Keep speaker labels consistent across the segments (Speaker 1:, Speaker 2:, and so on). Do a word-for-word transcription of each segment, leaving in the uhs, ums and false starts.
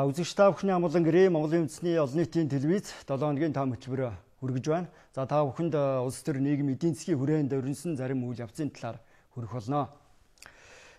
Speaker 1: За үзэгч та бүхний амгалан гэрээ Монголын үндэсний олон нийтийн телевиз долоо хоногийн том хөтөлбөр хүргэж байна. За та бүхэнд улс төр нийгэм эдийн засгийн хүрээнд өрнсөн зарим үйл явцын талаар хүргэх болно.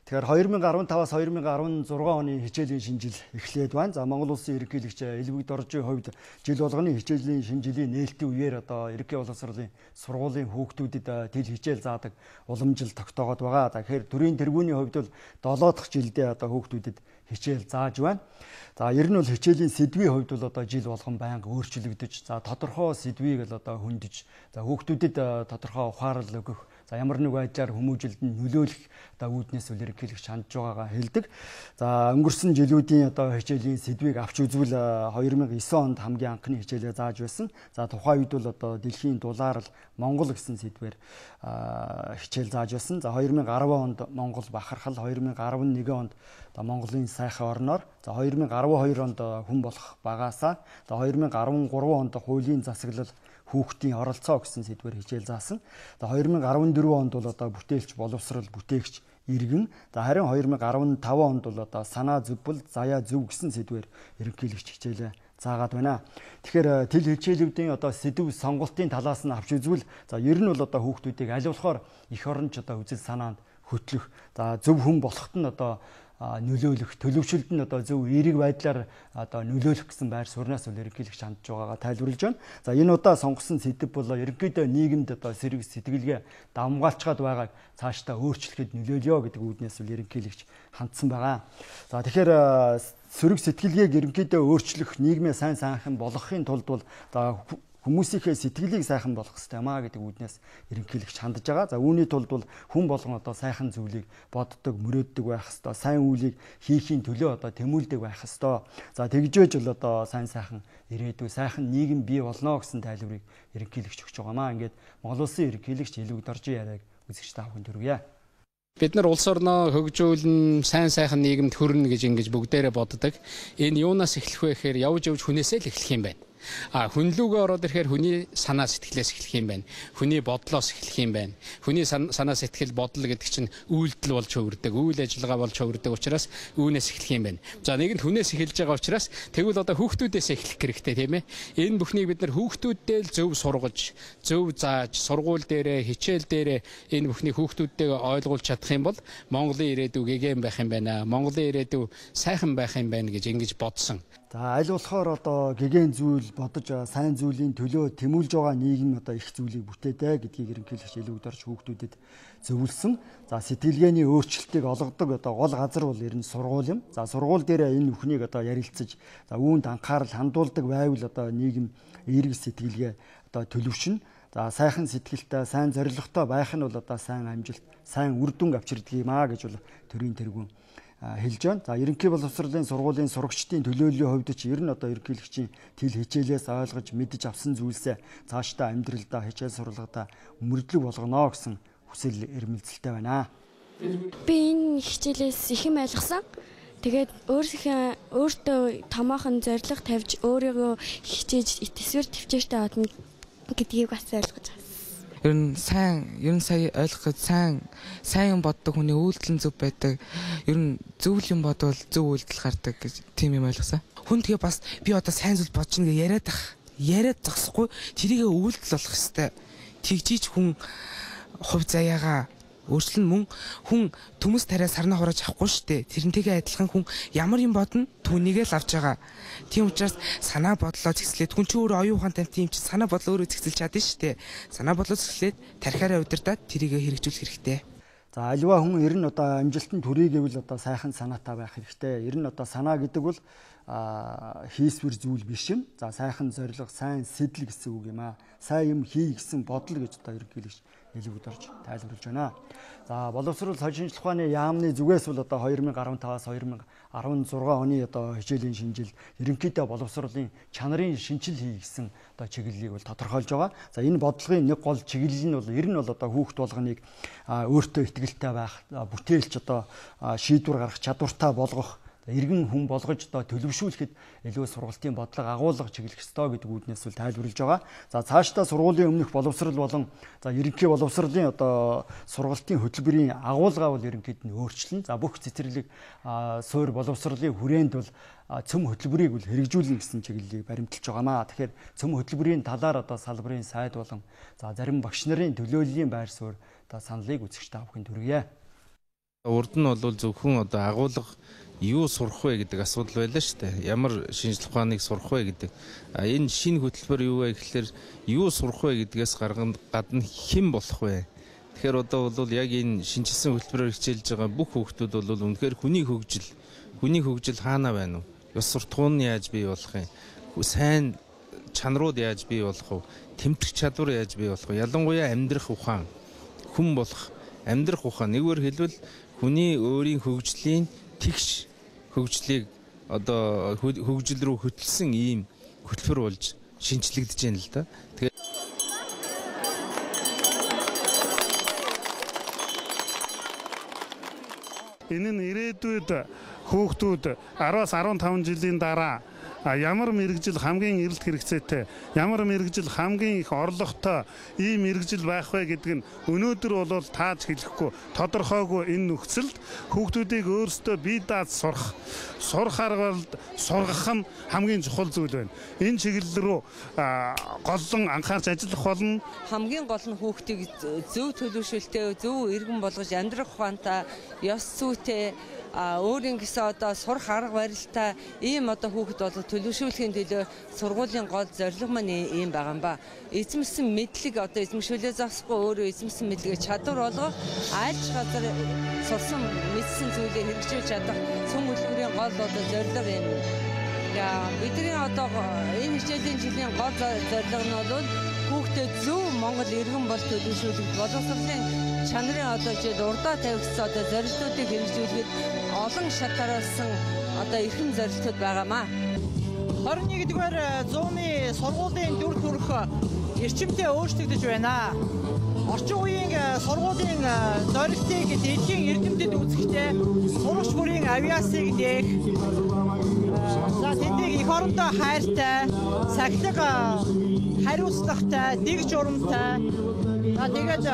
Speaker 1: Тэгэхээр two thousand fifteen-аас two thousand sixteen оны хичээлийн шинжил эхлээд байна. За Монгол улсын ерөнхийлөгч Элбэг Доржийн хувьд жил болгоны хичээлийн шинжилийн нээлтийн үеэр одоо ерөнхий боловсролын сургуулийн хүүхдүүдэд тэл хичээл заадаг уламжил тогтоогод байгаа. За тэгэхээр төрийн тэргүүний хувьд бол долоо дахь жилдээ одоо хүүхдүүдэд хичээл зааж байна. За ер нь бол хичээлийн сэдвийн хувьд бол одоо жил болгон байнга өөрчлөгдөж, за тодорхой сэдвийг л одоо хөндөж, за хүүхдүүдэд тодорхой ухаарал өгөх, за ямар нэг байдлаар хүмүүжилд нь нөлөөлөх одоо үүднээс үл ерөнхийлөгч хандж байгаагаа хэлдэг. За өнгөрсөн жилүүдийн одоо хичээлийн сэдвийг авч үзвэл two thousand nine онд хамгийн анхны хичээлээ зааж байсан. За тухайн үед бол одоо дэлхийн дулаарл Монгол гэсэн сэдвээр хичээл зааж байсан. За two thousand ten онд Монгол бахархал, two thousand eleven онд одоо Монголын сайхан орноор, за two thousand twelve онд хүн болох багаасаа, за two thousand thirteen онд хуулийн засаглал хүүхдийн оролцоо гэсэн сэдвээр хичээл заасан. За two thousand fourteen онд бол одоо бүтээлч, боловсрал, бүтээгч, иргэн. За харин two thousand fifteen онд бол одоо санаа зөвбөл, заяа зөв гэсэн сэдвээр ерөнхийлөгч хичээлээ заагаад байна. Тэгэхээр тэл хичээлүүдийн одоо сэдв сонголтын талаас нь авч үзвэл, за ер нь бол одоо хүүхдүүдийг аль болохоор эх оронч одоо үзэл санаанд хөтлөх, за зөв хүн болоход нь одоо нөлөөлөх, төлөвшөлд нь одоо зөв эерэг байдлаар одоо нөлөөлөх гэсэн байр сууриас үл ерөнхийлөгч хандж байгаагаа тайлбарлаж байна. За энэ удаа сонгосон сэдэв бол ерөнхийдөө нийгэмд одоо сэрэг сэтгэлгээ давмгаалчгаад байгааг цаашдаа өөрчлөхөд нөлөөлё гэдэг үүднээс үл ерөнхийлөгч хандсан байгаа. За тэгэхээр сөрөг сэтгэлгээг ерөнхийдөө өөрчлөх, нийгмээ сайн сайхан болгохын тулд бол хүмүүсийнхээ сэтгэлийг сайхан болгох хэрэгтэй маа гэдэг үүднээс ерөнхийлөгч хандж байгаа. За үүний тулд бол хүн болгон одоо сайхан зүйлийг боддог, мөрөөддөг байх хэрэгтэй. Сайн үйлийг хийхийн төлөө одоо тэмүүлдэг байх хэрэгтэй. За тэгжээж бол одоо сайн сайхан ирээдүй, сайхан нийгэм бий болно гэсэн тайлбарыг ерөнхийлөгч өгч байгаа маа. Ингээд Монгол улсын ерөнхийлөгч Элбэг Доржийн яриаг үзэгч та бүхэнд хүргье.
Speaker 2: Бид нар улс орноо хөгжүүлэн сайн сайхан нийгэмд хүрнэ гэж ингэж бүгдээрээ боддог. Энэ юунаас эхлэх вэ гэхээр явж явж хүнээсээ л эхлэх юм байна. А хүнлүүгээ ороод ирэхээр хүний санаа сэтгэлээс эхлэх юм байна. Хүний бодлоос эхлэх юм байна. Хүний санаа сэтгэл бодол гэдэг чинь үйлдэл болж хөвөрдөг, үйл ажиллагаа болж хөвөрдөг учраас үүнээс эхлэх юм байна. За нэгэнд хүнээс эхэлж байгаа учраас тэгвэл одоо хүүхдүүдээс эхлэх хэрэгтэй тийм ээ. Энэ бүхнийг бид нар хүүхдүүддээ л зөв сургаж, зөв зааж, сургууль дээрээ, хичээл дээрээ энэ бүхнийг хүүхдүүдтэйгээ ойлгуулж чадах юм бол Монголын ирээдүй гэгээн байх юм байна. Монголын ирээдүй сайхан байх юм байна гэж ингэж бодсон.
Speaker 1: За аль болохоор одоо гэгэн зүйл бодож сайн зүйлийн төлөө тэмүүлж байгаа нийгэм одоо их зүйлийг бүтээдэг гэдгийг ерөнхийлөгч Элбэг Дорж хүүхдүүдэд зөвлөсөн. За сэтгэлгээний өөрчлөлтийг олгодог одоо гол газар бол ер нь сургууль юм. За сургууль дээр энэ бүхнийг одоо ярилцаж, за үүнд анхаарал хандуулдаг байвал одоо нийгэм эерэг сэтгэлгээ одоо төлөвшнө. За сайхан сэтгэлтэй, сайн зорилготой байх нь бол одоо сайн амжилт, сайн үр дүн авчирдаг юм аа гэж бол төрийн тэргүүн хэлж байна. За ерөнхий боловсролын сургуулийн сурагчдын төлөөллийн хувьд ч ер нь одоо ерөнхийлөгчийн тэл хичээлээс ойлгож мэдж авсан зүйлсээ цаашдаа амьдралдаа, хичээл сургалгадаа мөрдлөг болгоно гэсэн хүсэл эрмэлзэлтэй байна.
Speaker 3: Би энэ хичээлээс их юм ойлгосон. Тэгээд өөрийнхөө өөртөө томоохон зорилго тавьж өөрийгөө хичээж төсвөр төвчээртэй одно гэдгийг бас ойлгож байна.
Speaker 4: Ер нь сайн, ер нь сая ойлгоход сайн, сайн юм боддог хүний үйлдэл нь зөв байдаг. Ер нь зөв юм бодвол зөв үйлдэл гардаг гэж тийм юм ойлгосон. Хүн тэгээ бас би одоо сайн зүйл бодож нэг яриад ах, яриад зогсохгүй тэрийгэ үйлдэл болох хэвээр. Тэгжиж хүн хувь заяагаа өөрчлөн мөн хүн төмөс тариа сарнаа хурааж авахгүй штэ. Тэрнтэйгээ адилхан хүн ямар юм бодно түүнийгээ л авч байгаа. Тийм учраас санаа бодлоо зэгслээд хүн ч өөрөө оюун ухаантай тийм ч санаа бодлоо өөрөө зэгсэлж чадна штэ. Санаа бодлоо зэгслээд тархиараа удирдаад тэрийгээ хэрэгжүүлэх хэрэгтэй.
Speaker 1: За альва хүн ер нь одоо амжилтанд хүрэх гэвэл одоо сайхан санаатай байх хэрэгтэй. Ер нь одоо санаа гэдэг бол хийсвэр зүйл биш юм. За сайхан зорилго, сайн сэтэл гэсэн үг юм аа. Сайн юм хий гэсэн бодол гэж одоо ерөнхийлөгч Элбэг Дорж тайлбарлаж байна. За боловсрол соёлын шинжилгээ ухааны яамны зүгээс бол одоо two thousand fifteen-аас two thousand sixteen оны одоо хичээлийн шинжил ерөнхийдөө боловсролын чанарын шинжил хий гэсэн одоо чиглэлийг бол тодорхойлж байгаа. За энэ бодлогын нэг гол чиглэл нь бол ер нь бол одоо хүүхд болгоныг өөртөө итгэлтэй байх, бүтээлч одоо шийдвэр гаргах чадвартай болгох, иргэн хүн болгож одоо төлөвшүүлэхэд илүү сургалтын бодлого агуулга чиглэх ёстой гэдэг үүднээс бол тайлбарлаж байгаа. За цаашдаа сургуулийн өмнөх боловсрал болон за ерөнхий боловсролын одоо сургалтын хөтөлбөрийн агуулгаа бол ерөнхийд нь өөрчлөн. За бүх цэцэрлэг суур боловсролын хүрээнд бол цөм хөтөлбөрийг бол хэрэгжүүлнэ гэсэн чиглэлийг баримталж байгаамаа. Тэгэхээр цөм хөтөлбөрийн талаар одоо салбарын сайд болон за зарим багш нарын төлөөллийн байр суурь одоо саналыг үзэгч та бүхэнд хүргье.
Speaker 5: Урд нь бол зөвхөн одоо агуулга юу сурах вэ гэдэг асуудал байлаа шүү дээ. Ямар шинжлэх ухааныг сурах вэ гэдэг. А энэ шинэ хөтөлбөр юу вэ гэхэлэр юу сурах вэ гэдгээс гарган гадна хэн болох вэ? Тэгэхээр одоо бол яг энэ шинжилсэн хөтөлбөрөөр хичээлж байгаа бүх хүүхдүүд бол үнэхээр хүний хөгжил, хүний хөгжил хаана байна вэ? Ёс суртахуун нь яаж бий болох юм? Сайн чанарууд яаж бий болох вэ? Тэмдэх чадвар яаж бий болох вэ? Ялангуяа амьдрах ухаан, хүн болох амьдрах ухаан. Нэгвэр хэлбэл хүний өөрийн хөгжлийн тэгш хөгжлийг одоо хөгжил рүү хөтлсөн ийм хөтөлбөр болж шинжлэгдэж байна л да. Тэгээд
Speaker 6: энэ нь ирээдүйд хүүхдүүд араас арван таван жилийн дараа ямар мэрэгжил хамгийн эрэлт хэрэгцээтэй, ямар мэрэгжил хамгийн их орлоготой ийм мэрэгжил байх вэ гэдэг нь өнөөдөр бол тааж хэлэхгүй тодорхойгүй энэ нөхцөлд хүүхдүүдийг өөрсдөө бие дааж сурах, сурах аргад сургах нь хамгийн чухал зүйл байна. Энэ чиглэл рүү голлон анхаарч ажиллах болно.
Speaker 7: Хамгийн гол нь хүүхдийг зөв төлөвшөлтөй, зөв иргэн болгож амьдрах ухаантай, ёс зүйтэй өөрийн гэсэн одоо сурах арга барилтай ийм одоо хүүхэд бол төлөвшүүлэхийн төлөө сургуулийн гол зорилго маань ийм байгаа юм ба. Эзэмсэн мэдлэг одоо эзэмшүүлээ засахгүй өөрөө эзэмсэн мэдлэгээ чадвар болгох айлч газар сурсан мэдсэн зүйлээ хэрэгжүүлж чадах цөм хөтөлбөрийн гол одоо зорилго юм. Яа бидний одоо энэ хичээлийн жилийн гол зорилго нь бол хүүхдэд зөв Монгол иргэн бол төлөвшүүлэх боловсролын чанарын одоо жишээ урдаа тавигдсан одоо зорилтуудыг хэрэгжүүлэхэд олон шатаруулсан одоо эрхэм зорилтууд байгаамаа.
Speaker 8: хорин нэгдүгээр зууны сургуулийн дүр төрх эрчимтэй өөрчлөгдөж байна. Орчин үеийн сургуулийн зорилтыг дэлхийн эрдэмтэд үзэхдээ сурагч бүрийн авиасыг нээх, за тэднийг эх орондоо хайртай, сахилга хариуцлагатай, дэг журамтай, за тэгээд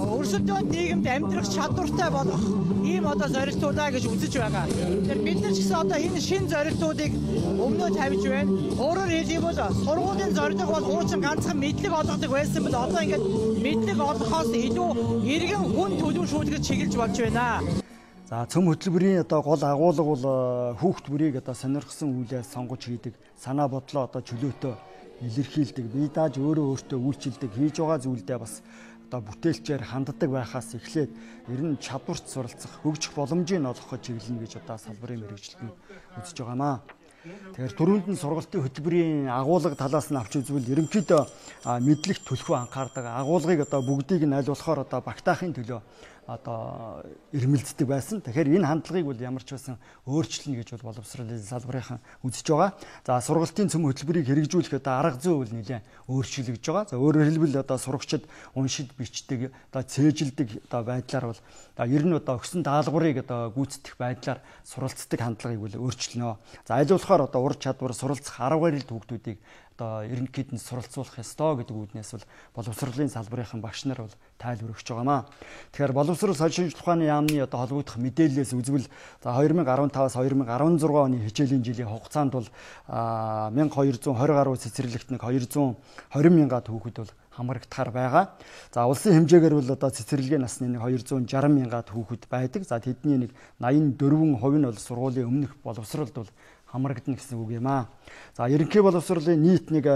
Speaker 8: өрсөлдөөн нийгэмд амьдрах чадвартай болох ийм одоо зорилтуудаа гэж үзэж байгаа. Тэгэхээр бид нар ч гэсэн одоо энэ шинэ зорилтуудыг өмнөө тавьж байна. Өөрөөр хэлбэл сургуулийн зорилго бол хуучин ганцхан мэдлэг олгодог байсан бол одоо ингээд мэдлэг олгохоос илүү иргэн хүн төлөвшүүлэхэд чиглэж болж байна.
Speaker 1: За цөм хөтөлбөрийн одоо гол агуулга бол хүүхд бүрийг одоо сонирхсан үйлээ сонгож хийдэг, санаа бодлоо одоо чөлөөтөө илэрхийлдэг, бие дааж өөрөө өөртөө үйлчилдэг, хийж байгаа зүйлдээ бас одоо бүтээлчээр ханддаг байхаас эхлээд ер нь чадварт суралцах, хөгжих боломжийг олгоход чиглэнэ гэж одоо салбарын мэргэжилтнүүд үзэж байгаамаа. Тэгэхээр түрүүнд нь сургалтын хөтөлбөрийн агуулга талаас нь авч үзвэл ерөнхийдөө мэдлэгт төлхөө анхаардаг, агуулгыг одоо бүгдийг нь аль болохоор одоо багтаахын төлөө одоо ирмэлцдэг байсан. Тэгэхээр энэ хандлагыг бол ямар ч байсан өөрчлөнө гэж бол боловсролын салбарынхан үзэж байгаа. За сургалтын цөм хөтөлбөрийг хэрэгжүүлэх одоо арга зүй бол нэлээд өөрчлөгдөж байгаа. За өөрөөр хэлбэл одоо сурагчид уншид бичдэг, одоо цээжилдэг одоо байдлаар бол ер нь одоо өгсөн даалгаврыг одоо гүйцэтгэх байдлаар суралцдаг хандлагыг бол өөрчлөнө. За аль болохоор одоо ур чадвар суралцах арга барилд хүүхдүүдийг одоо ерөнхийд нь суралцуулах ёстой гэдэг үүднээс бол боловсролын салбарынхан багш нар бол тайлбар өгч байгаамаа. Тэгэхээр боловсрол соёлын шинжилгээ ухааны яамны одоо холбогдох мэдээллээс үзвэл за хоёр мың арван таваас хоёр мың арван зургаан оны хичээлийн жилийн хугацаанд бол мянга хоёр зуун хорин гаруй цэцэрлэгт нэг хоёр зуун хорин мянга хүүхэд бол хамрагдахаар байгаа. За улсын хэмжээгээр бол одоо цэцэрлэгийн насны нэг хоёр зуун жарган мянга хүүхэд байдаг. За тэдний нэг найман дөрвөн хувь нь бол сургуулийн өмнөх боловсролд бол хамрагдана гэсэн үг юм аа. За ерөнхий боловсролын нийт нэг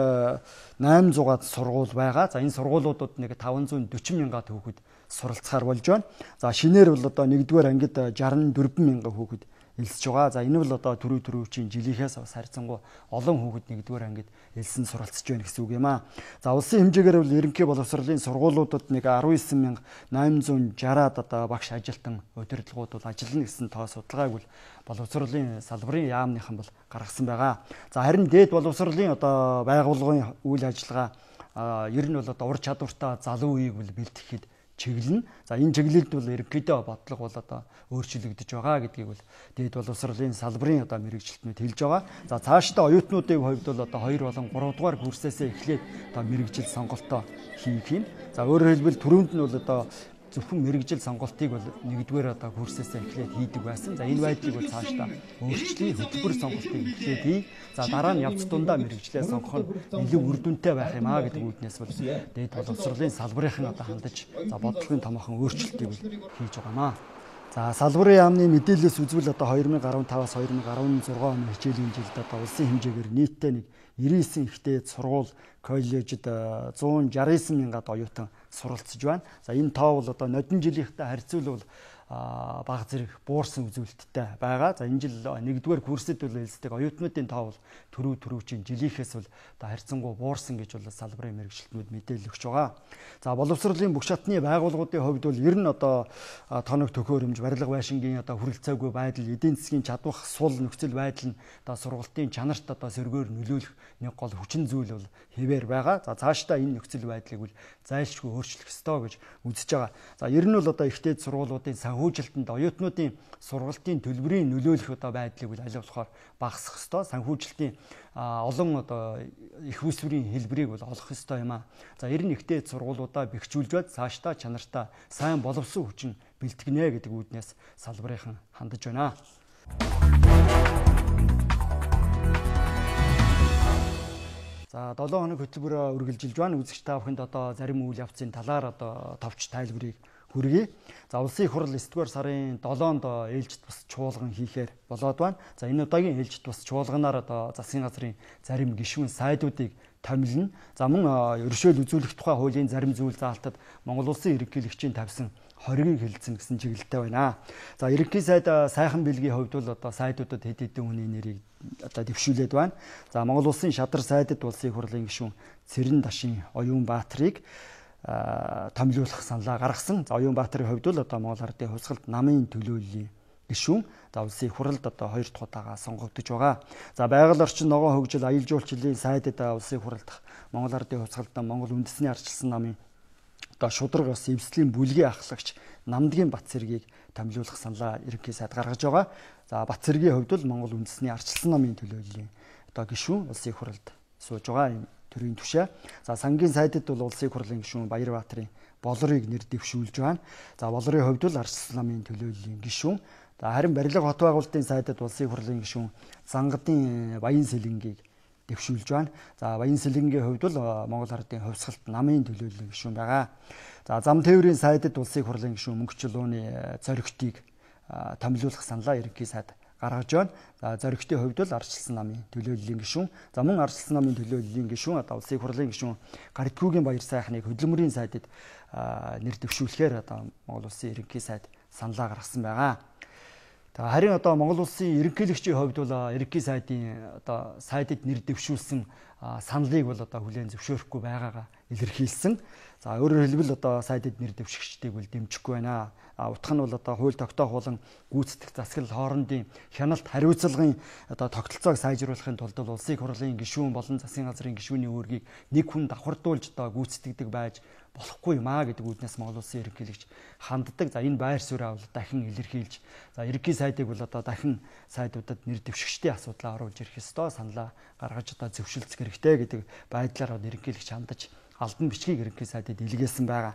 Speaker 1: найман зугаад сургууль байгаа. За энэ сургуулиудад нэг таван зуун дөрвөн мянга хүүхэд суралцахаар болж байна. За шинээр бол одоо нэгдүгээр ангид жарган дөрвөн мянга хүүхэд элсэж байгаа. За энэ бол одоо төрөв төрөвчийн жилийнхээс бас харьцангуй олон хүүхэд нэгдүгээр ангид элсэн суралцж байна гэсэн үг юм аа. За улсын хэмжээгээр бол ерөнхий боловсролын сургуулиудад нэг арван девять мянга найман зуун шестьдесят одоо багш ажилтан удирдлагууд бол ажиллана гэсэн тоо судалгааг бол боловсролын салбарын яамныхан бол гаргасан байгаа. За харин дээд боловсролын одоо байгууллагын үйл ажиллагаа ер нь бол одоо ур чадвартай залуу үеийг бол бэлтгэхэд чиглэн. За энэ чиглэлд бол ерөнхийдөө бодлого бол одоо өөрчлөгдөж байгаа гэдгийг бол дээд боловсролын салбарын одоо мэрэгжилтнүүд хэлж байгаа. За цаашдаа оюутнуудын хувьд бол одоо хоёр болон гурав дугаар курсээсээ эхлээд одоо мэрэгжил сонголтоо хийх юм. За өөрөөр хэлбэл түрүүнд нь бол одоо зөвхөн мэрэгжил сонголтыг бол нэгдүгээр одоо курсээсээ эхлээд хийдэг байсан. За энэ байдлыг бол цаашдаа өөрчлөе, хөтөлбөр сонголтыг эхлээд хий. За дараа нь явц дундаа мэрэгжлээ сонгох нь илүү үр дүнтэй байх юм аа гэдэг үүднээс бол дээд боловсролын салбарын одоо хандаж за бодлогын томоохон өөрчлөлтийг бол хийж байгаамаа. За салбарын яамны мэдээлэлээс үзвэл одоо две тысячи десятый-аас две тысячи шестнадцать оны хичээлийн жилд одоо улсын хэмжээгээр нийтдээ нэг девяносто девять ихтэй сургууль, коллежид one sixty nine мянгад оюутан суралцж байна. За энэ тоо бол одоо нодон жилийнхтэй харьцуулбал бага зэрэг буурсан үзүүлэлттэй байгаа. За энэ жил нэгдүгээр курсэд бол элсдэг оюутнуудын тоо бол төрөв төрөвчийн жилийнхээс бол одоо харьцангуй буурсан гэж бол салбарын мэрэгчлэтнүүд мэдээлэл өгч байгаа. За боловсролын бүх шатны байгууллагуудын хувьд бол ер нь одоо тоног төхөөрөмж, барилга байшингийн одоо хүрэлцээгүй байдал, эдийн засгийн чадвах сул нөхцөл байдал нь одоо сургалтын чанарт одоо сөргөөр нөлөөлөх нэг гол хүчин зүйл бол хэвээр байгаа. За цаашдаа энэ нөхцөл байдлыг бол зайлшгүй өөрчлөх ёстой гэж үзэж байгаа. За ер нь бол одоо ихтэй сургуулиудын санхүүжилтэнд оюутнуудын сургалтын төлбөрийн нөлөөлөх одоо байдлыг бол аль болохоор багасгах ёстой. Санхүүжилтийн олон одоо их усврийн хэлбэрийг бол олох ёстой юм аа. За ер нь ихтэй сургуулиудаа бэхжүүлж бод цаашдаа чанартай сайн боловсон хүчин бэлтгэнэ гэдэг үүднээс салбарынхан хандаж байна. За долоо хоног хөтөлбөрөөр үргэлжилж байна. Үзэгч та бүхэнд одоо зарим үйл явцын талаар одоо товч тайлбарыг хүргэе. За улсын их хурл ninth дугаар сарын долоонд ээлжид бас чуулган хийхээр болоод байна. За энэ удаагийн ээлжид бас чуулганаар одоо засгийн газрын зарим гишүүн сайдуудыг томилно. За мөн ерөнхийлөл үзүүлэх тухай хуулийн зарим зүйл заалтад Монгол улсын ерөнхийлөгчийн тавьсан хориг хэлсэн гэсэн чиглэлтэй байна. За ерөнхий сайд сайхан бэлгийн хувьд бол одоо сайдуудад хэд хэдэн хүний нэрийг одоо дэвшүүлээд байна. За Монгол улсын шадар сайдад улсын их хурлын гишүүн Цэрэн Дашин Оюун-Баатрыг томилуулах саналаа гаргасан. За Оюун-Баатрын хувьд бол одоо Монгол Ардын хувьсгалд намын төлөөллийн гишүүн за улсын их хурлд одоо хоёр дахь удаага сонгогдож байгаа. За байгаль орчин, ногоон хөгжил, аялал жуулчлалын сайдад улсын их хурлд Монгол Ардын хувьсгалд Монгол үндэсний ардчилсан намын одоо шудраг бас эвслийн бүлгийн ахлагч Намдгийн Батцэргийг томилуулах саналаа ерөнхий сайд гаргаж байгаа. За Батцэргийн хувьд бол Монгол үндэсний ардчилсан намын төлөөллийн одоо гишүүн улсын их хурлд сууж байгаа юм төрийн түвшээ. За сангийн сайдад бол улсын их хурлын гишүүн Баярбаатарын Болорыг нэр дэвшүүлж байна. За Болорын хувьд бол ардчилсан намын төлөөллийн гишүүн. За харин барилга хот байгуулалтын сайдад улсын их хурлын гишүүн Зангадын Баян Сэлэнгийг дэвшүүлж байна. За Баян Сэлэнгийн хувьд бол Монгол Ардын хувьсгалт намын төлөөллийн гишүүн байгаа. За зам тээврийн сайдад улсын их хурлын гишүүн Мөнхчлөөний зоригтыг томилуулах саналаа ерөнхий сайд гаргаж байна. За зоригтын хувьд бол ардчилсан намын төлөөллийн гишүүн. За мөн ардчилсан намын төлөөллийн гишүүн одоо улсын их хурлын гишүүн Гаритгүүгийн баяр сайхныг хөдөлмөрийн сайдад нэр дэвшүүлэхээр одоо Монгол улсын ерөнхий сайд саналаа гаргасан байгаа. За харин одоо Монгол улсын ерөнхийлөгчийн хувьд бол ерөнхий сайдын одоо сайдад нэр дэвшүүлсэн саналыг бол одоо хүлээн зөвшөөрөхгүй байгаагаа илэрхийлсэн. За өөрөөр хэлбэл одоо сайдад нэр дэвшигчдийг бол дэмжихгүй байна. А утга нь бол одоо хууль тогтоох болон гүйцэтгэх засаглал хоорондын хяналт хариуцлагын одоо тогтолцоог сайжруулахын тулд улсын их хурлын гишүүн болон засгийн газрын гишүүний үүргийг нэг хүн давхардуулж одоо гүйцэтгэдэг байж болохгүй юм аа гэдэг үүднээс Монгол улсын ерөнхийлөгч ханддаг. За энэ байр сууриа бол дахин илэрхийлж за ерөнхий сайдыг бол одоо дахин сайдуудад нэр дэвшигчдийн асуудлаа оруулж ирэх ёстой, саналаа гаргаж одоо зөвшөлдөх хэрэгтэй гэдэг байдлаар ерөнхийлөгч хандаж албан бичгийг ерөнхий сайдад илгээсэн байгаа.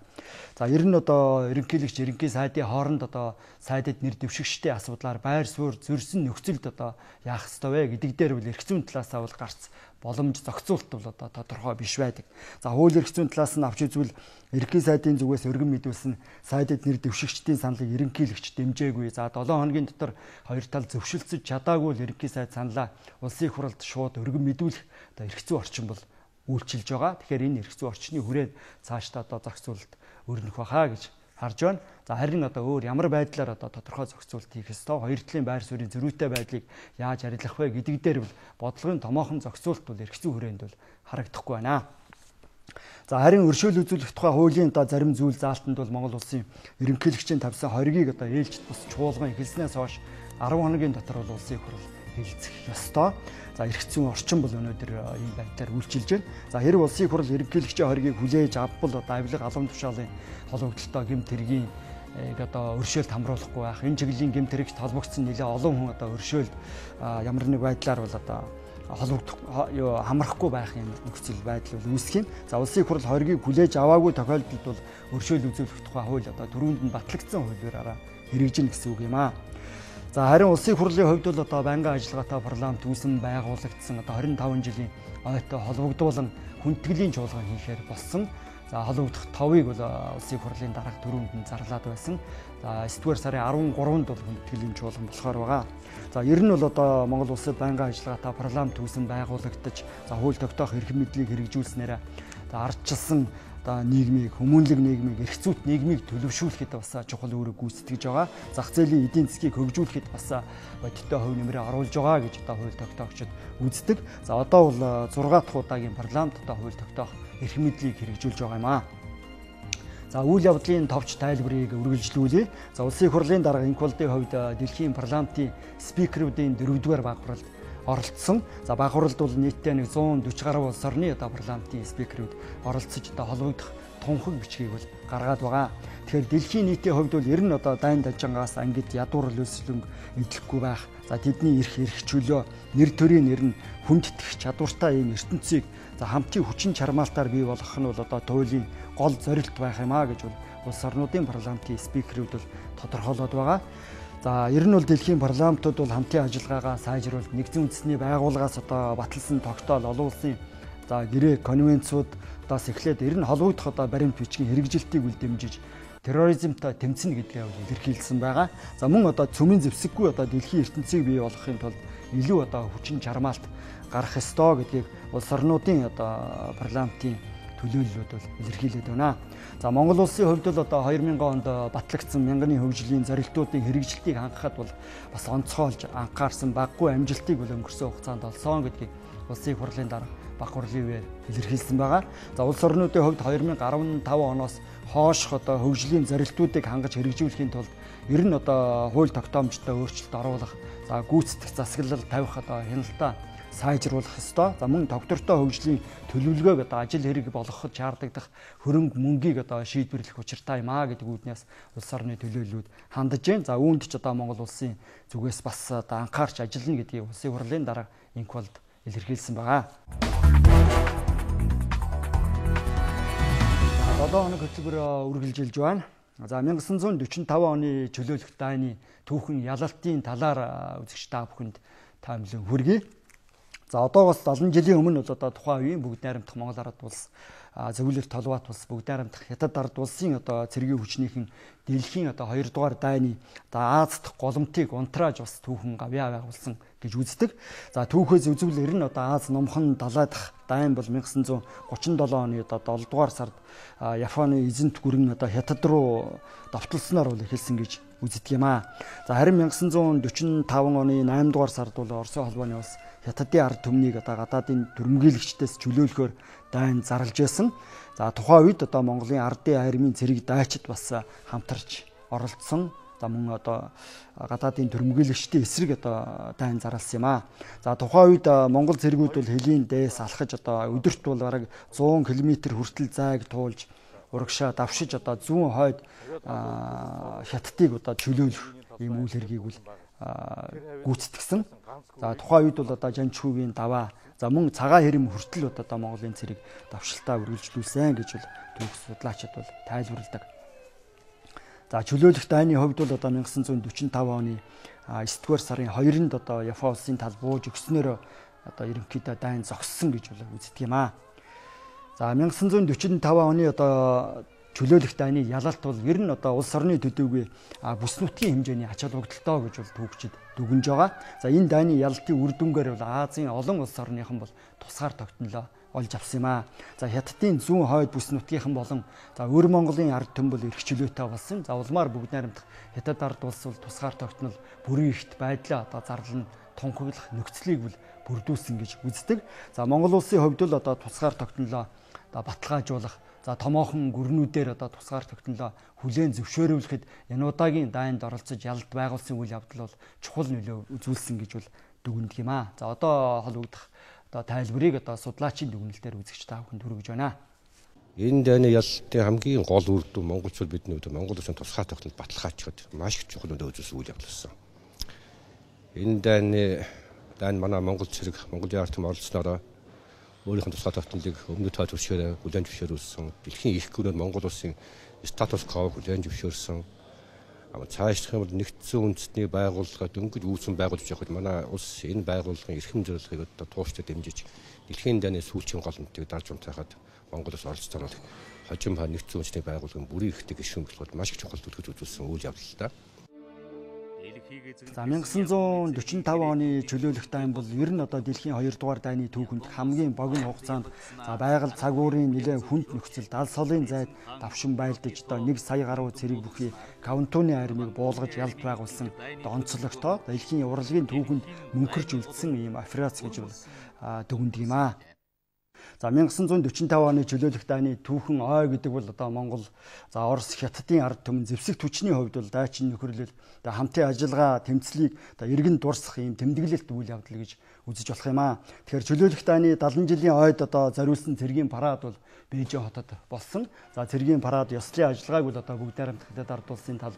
Speaker 1: За ер нь одоо ерөнхийлөгч ерөнхий сайдын хооронд одоо сайдад нэр дэвшигчдийн асуудлаар байр суурь зөрсөн нөхцөлд одоо яах ёстой вэ гэдэг дээр бол эрх зүйн талаасаа бол гарц боломж зохицуулалт бол одоо тодорхой биш байдаг. За хууль эрх зүйн талаас нь авч үзвэл ерөнхий сайдын зүгээс өргөн мэдүүлсэн сайдад нэр дэвшигчдийн саналыг ерөнхийлөгч дэмжээгүй. За долоон хоногийн дотор хоёр тал зөвшөлдсөж чадаагүй л ерөнхий сайд саналаа улсын их хурлд шууд өргөн мэдүүлэх одоо эрх зүйн орчин бол үйлчилж байгаа. Тэгэхээр энэ эрх зүйн орчны хүрээд цаашдаа одоо зохицуулалт өрнөх бахаа гэж харж байна. За харин одоо өөр ямар байдлаар одоо тодорхой зохицуулалт хийх ёстой, хоёр талын байр суурийн зөрүүтэй байдлыг яаж арилгах вэ гэдэг дээр бол бодлогын томоохон зохицуулалт бол эрх зүйн хүрээнд бол харагдахгүй байна. За харин өршөөл үзүүлэх тухай хуулийн одоо зарим зүйл заалтанд бол Монгол улсын ерөнхийлөгчийн тавьсан хоригийг одоо ээлжид бус чуулган эхэлснээс хойш арван хоногийн дотор бол улсын их хурл хэлцэх ёстой. За эрх зүйн орчин бол өнөөдөр ийм байдлаар үйлчилж байна. За хэрэг улсын их хурл ерөнхийлөгчийн хоргийг хүлээж авбал одоо авилга алам тушаалын холбогдлолтой гэмт хэргийн одоо өршөөлт хамруулахгүй байх. Энэ чиглэлийн гэмт хэрэгт холбогдсон нэлээ олон хүн одоо өршөөлт ямар нэг байдлаар бол одоо холбогдох хамрахгүй байх юм нөхцөл байдал бол үүсэх юм. За улсын их хурл хоргийг хүлээж аваагүй тохиолдолд бол өршөөл үзүүлэх тухай хууль одоо түрүүнд нь батлагдсан хуулиараа хэрэгжинэ гэсэн үг юм аа. За харин улсын их хурлын хувьд бол одоо байнгын ажиллагаатай парламент үүсэн байгуулагдсан одоо хорин таван жилийн ойтой холбогдуулан хүндэтгэлийн чуулган хийхээр болсон. За холбогдох товыг бол улсын их хурлын дараах төрөнд нь зарлаад байсан. За эсдүгээр сарын арван гурванд бол хүндэтгэлийн чуулган болохоор байгаа. За ер нь бол одоо Монгол улсад байнгын ажиллагаатай парламент үүсэн байгуулагдаж за хууль тогтоох эрх мэдлийг хэрэгжүүлснээр ардчилсан одоо нийгмийг, хүмүүнлэг нийгмийг, эрх зүйт нийгмийг төлөвшүүлэхэд бас чухал үүрэг гүйцэтгэж байгаа. Зах зээлийн эдийн засгийг хөгжүүлэхэд бас бодиттой хувь нэмрээ оруулж байгаа гэж одоо хууль тогтоогчид үздэг. За одоо бол зургаат дахь удаагийн парламент одоо хууль тогтоох эрх мэдлийг хэрэгжүүлж байгаа юм аа. За үйл явдлын товч тайлбарыг үргэлжлүүлье. За улсын их хурлын дарга Инквалдын хувьд дэлхийн парламентын спикерүүдийн дөрөвдүгээр баг хуралд оролцсон. За баг хуралд бол нийтдээ нэг зуун дөрвөн гаруй улс орны одоо парламентын спикерүүд оролцож одоо холбогдох тунхаг бичгийг бол гаргаад байгаа. Тэгэхээр дэлхийн нийтийн хувьд бол ер нь одоо дайн дажингаас ангид ядуур лөөслөнг эдлэхгүй байх. За тэдний эрх эрх чөлөө, нэр төрийн нэр нь хүндэтгэх чадвартай ийм ертөнцийг за хамтын хүчин чармаалтаар бий болгох нь бол одоо туйлын гол зорилт байх юм а гэж бол улс орнуудын парламентын спикерүүд бол тодорхойлоод байгаа. За ер нь бол дэлхийн парламентууд бол хамтын ажиллагаагаа сайжруулалт нэгдсэн үндэсний байгууллагаас одоо баталсан тогтоол олон улсын за гэрээ конвенцуудаас эхлээд ер нь холбогдох одоо баримт бичгийн хэрэгжилтийг үл дэмжиж терроризмтай тэмцэнэ гэдгээ илэрхийлсэн байгаа. За мөн одоо цөмийн зэвсэггүй одоо дэлхийн ертөнцийг бий болгохын тулд илүү одоо хүчин чармаалт гарах ёстой гэдгийг улс орнуудын одоо парламентын төлөөллүүд бол илэрхийлээд байна. За Монгол улсын хувьд бол одоо две тысячи онд батлагдсан мянганы хөгжлийн зорилтуудын хэрэгжилтийг хангахад бол бас онцгойлж анхаарсан баггүй амжилтыг бол өнгөрсөн хугацаанд олсон гэдгийг улсын их хурлын дарга баг хурлын үеэр илэрхийлсэн байгаа. За улс орнуудын хувьд две тысячи десятый оноос хойшх одоо хөгжлийн зорилтуудыг хангаж хэрэгжүүлэхийн тулд ер нь одоо хууль тогтоомжтой өөрчлөлт оруулах, за гүйцэтгэх засаглал тавих одоо хяналтаа сайжруулах ёстой. За мөн доктортой хөгжлийн төлөвлөгөөг одоо ажил хэрэг болгоход шаардлагадах хөрөнгө мөнгийг одоо шийдвэрлэх учиртай юм а гэдэг үүднээс улс орны төлөөллүүд хандаж байна. За үүнд ч одоо Монгол улсын зүгээс бас одоо анхаарч ажиллана гэдгийг улсын хурлын дарга Инквалд илэрхийлсэн байгаа. долоо хоног хөтөлбөр үргэлжилж байна. За 천구 сорок оны чөлөөлөх дайны түүхэн ялалтын талаар үзэгч та бүхэнд таамаглан хүргэе. За одоогоос олон жилийн өмнө бол одоо тухайн үеийн бүгд найрамдах Монгол ард улс, зөвлөлт толгойт улс, бүгд найрамдах Хятад ард улсын одоо цэргийн хүчнийхэн дэлхийн одоо хоёрдугаар дайны за Аз дахь голомтыг унтрааж бас түүхэн гавьяа байгуулсан гэж үздэг. За түүхээс үзвэл ер нь одоо Аз номхон далай дахь дайн бол 천구 сорок оны одоо долдугаар сард Японы эзэнт гүрэн одоо Хятад руу давталснаар бол эхэлсэн гэж үздэг юм аа. За харин 천구 сорок оны наймдугаар сард бол Оросын холбооны улс Хятадын ард түмнийг одоо гадаадын түрэмгийлэгчдээс чөлөөлөхөөр дайн зарлж байсан. За тухайн үед одоо Монголын ардын армийн цэрэг дайчид бас хамтарч оролцсон. За мөн одоо гадаадын түрэмгийлэгчдийн эсрэг одоо дайн зарласан юм аа. За тухайн үед Монгол цэргүүд бол хөлийн дээс алхаж одоо өдөрт бол бараг зуун километр хүртэл зайг туулж урагшаа давшиж одоо зүүн хойд Хятадыг одоо чөлөөлөх ийм үйл хэргийг бол гүйцэтгсэн. За тухайн үед бол одоо Жанчхүүгийн даваа за мөн цагаан хэрэм хүртэл одоо Монголын цэрэг давшилтаа үргэлжлүүлсэн гэж бол түүх судлаачид бол тайлбарладаг. За чөлөөлөх дайны хувьд бол одоо 천구 сорок оны есдүгээр сарын хоёрнд одоо Япон улсын тал бууж өгснөөр одоо ерөнхийдөө дайн зогссон гэж бол үздэг юм аа. За 천구 сорок оны одоо чөлөөлөх дайны ялалт бол ер нь одоо улс орны төдийгүй бүс нутгийн хэмжээний ач холбогдолтой гэж бол түүхчид дүгнж байгаа. За энэ дайны ялалтын үр дүнгээр бол Азийн олон улс орныхан бол тусгаар тогтнолоо олж авсан юм аа. За Хятадын зүүн хойд бүс нутгийнхан болон за өр Монголын ард түмэн бол эрх чөлөөтэй болсон. За улмаар бүгд найрамдах Хятад ард улс бол тусгаар тогтнол бүрийн эрхт байдлаа одоо зарлан тунхаглах нөхцөлийг бол бүрдүүлсэн гэж үздэг. За Монгол улсын хувьд л одоо тусгаар тогтнолоо одоо баталгаажуулах за томоохон гүрнүүдээр одоо тусгаар тогтнолоо хүлээн зөвшөөрүүлэхэд энэ удаагийн дайнд оролцож ялалт байгуулсан үйл явдал бол чухал нөлөө үзүүлсэн гэж бол дүгнэдэг юм аа. За одоо холбогдох одоо тайлбарыг одоо судлаачийн дүгнэлтээр үзэгч та бүхэнд хүргэж байна.
Speaker 9: Энэ дайны ялалтын хамгийн гол үр дүн монголчууд бидний хувьд Монгол улсын тусгай тогтнол баталгаажихад маш их чухал өдөө үзүүлсэн үйл явдал болсон. Энэ дайны дайн манай Монгол цэрэг Монгол яарт оролцсноор өөрийнх нь тусгай тогтнолыг өмнөд тоо төвшөөр хүлээн зөвшөөрүүлсэн. Дэлхийн их гүрэнд Монгол улсын статус квог хүлээн зөвшөөрсөн. Ама цаашдах юм бол нэгдсэн үндэстний байгууллага дөнгөж үүсгэн байгуулж явахад манай улс энэ байгууллагын эрхэм зорилгыг одоо тууштай дэмжиж дэлхийн дайны сүүлчийн гол үнэтийг дарж унтахад Монгол улс оролцсон бол хожим ба нэгдсэн үндэстний байгууллагын бүрийн эрхтэй гишүүн болоход маш их чухал төлөв үзүүлсэн үйл явдал та.
Speaker 1: За мянга девять жүз дөрвөн тавь оны чөлөөлөх дайн бол ер нь одоо дэлхийн хоёрдугаар дайны түүхэнд хамгийн богино хугацаанд за байгаль цагуурын нэлээд хүнд нөхцөлд алс холын зайд давшин байлдаж одоо нэг сая гаруй цэрэг бүхий Каунтуны армийг буулгаж ялд байгуулсан онцлогтой дэлхийн урлагийн түүхэнд мөнхөрч үлдсэн ийм операц гэж дүгнэдэг юм аа. За мянга девять жүз дөрвөн тавь оны чөлөөлөх дайны түүхэн ой гэдэг бол одоо Монгол за Орос Хятадын ард түмэн зэвсэг түвшний хувьд бол дайчин нөхөрлөл одоо хамтын ажиллагаа тэмцлийг одоо иргэн дурсах ийм тэмдэглэлт үйл явдал гэж үзэж болох юм аа. Тэгэхээр чөлөөлөх дайны дагалан жилийн ойд одоо зориулсан цэргийн парад бол Бээжин хотод болсон. За цэргийн парад ёслолын ажиллагааг бол одоо бүгд найрамдах Хятад ард улсын тал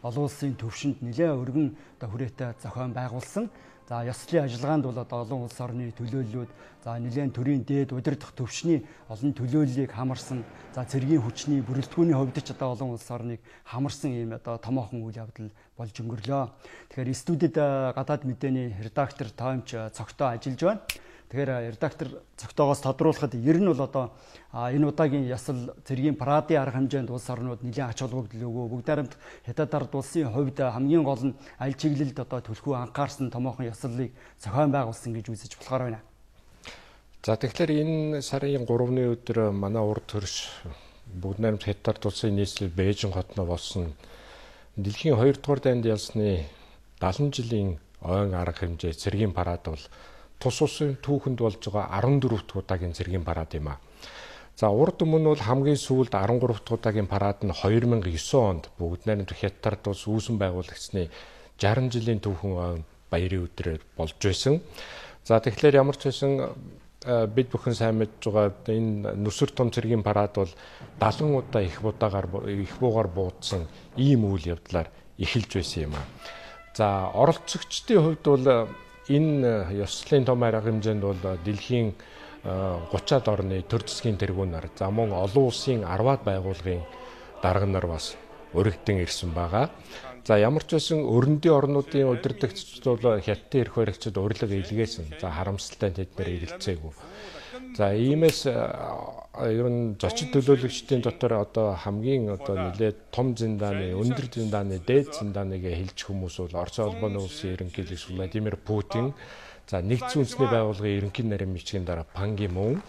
Speaker 1: олон улсын төвшөнд нэлээд өргөн одоо хүрээтэй зохион байгуулсан. За ёслолын ажиллагаанд бол одоо олон улс орны төлөөллүүд за нэлээд төрийн дээд удирдах төвшний олон төлөөллийг хамарсан. За цэргийн хүчний бүрэлдэхүүний хувьд ч одоо олон улс орныг хамарсан ийм одоо томоохон үйл явдал болж өнгөрлөө. Тэгэхээр студид гадаад мэдээний редактор Томч цогтоо ажиллаж байна. Тэгэхээр редактор цогтоогоос тодруулахад ер нь бол одоо энэ удаагийн ясал цэргийн парадын арга хэмжээнд улс орнууд нэлээд ач холбогдол өгөө. Бүгд найрамдах Хятад ард улсын хувьд хамгийн гол нь аль чиглэлд одоо төлхөө анхаарсан томоохон ясаллыг зохион байгуулсан гэж үзэж болохоор байна.
Speaker 10: За тэгэхээр энэ сарын гуравны өдөр манай урд хөрш бүгд найрамдах Хятад ард улсын нийслэл Бээжин хотноо болсон дэлхийн хоёрдугаар дайнд ялсны дагалан жилийн ойн арга хэмжээ цэргийн парад бол тус улсын түүхэнд болж байгаа арван дөрөв дахь удаагийн цэргийн парад юм а. За урд өмнө бол хамгийн сүүлд арван гурав дахь удаагийн парад нь хоёр мянга девэн онд бүгд найрамдах Хятад ард улс үүсэн байгуулагчны шарсан жилийн түүхэн баярын өдрөөр болж байсан. За тэгэхээр ямар ч байсан бид бүхэн сайн мэдж байгаа энэ нүсэр том цэргийн парад бол дагалан удаа их удаагаар их буугаар буудсан ийм үйл явдлаар эхэлж байсан юм а. За оролцогчдын хувьд бол энэ ёслолын том арга хэмжээнд бол дэлхийн гучаад орны төр засгийн тэргүүнээр за мөн олон улсын арваад байгууллагын дарга нар бас өргөдөн ирсэн байгаа. За ямар ч байсан өрөндийн орнуудын удирдагчид бол Хятадын эрх баригчид урилга илгээсэн. За харамсалтай тэд нэр ирэлцээгүй. За иймээс ер нь зочид төлөөлөгчдийн дотор одоо хамгийн одоо нэлээд том зиндааны, өндөр зиндааны, дээд зиндааныг хэлж хүмүүс бол Орос улбаны улсын ерөнхийлөгч Владимир Путин, за нэгдсэн үндэсний байгууллагын ерөнхий нарийн бичгийн дараа Пан Ги Мун,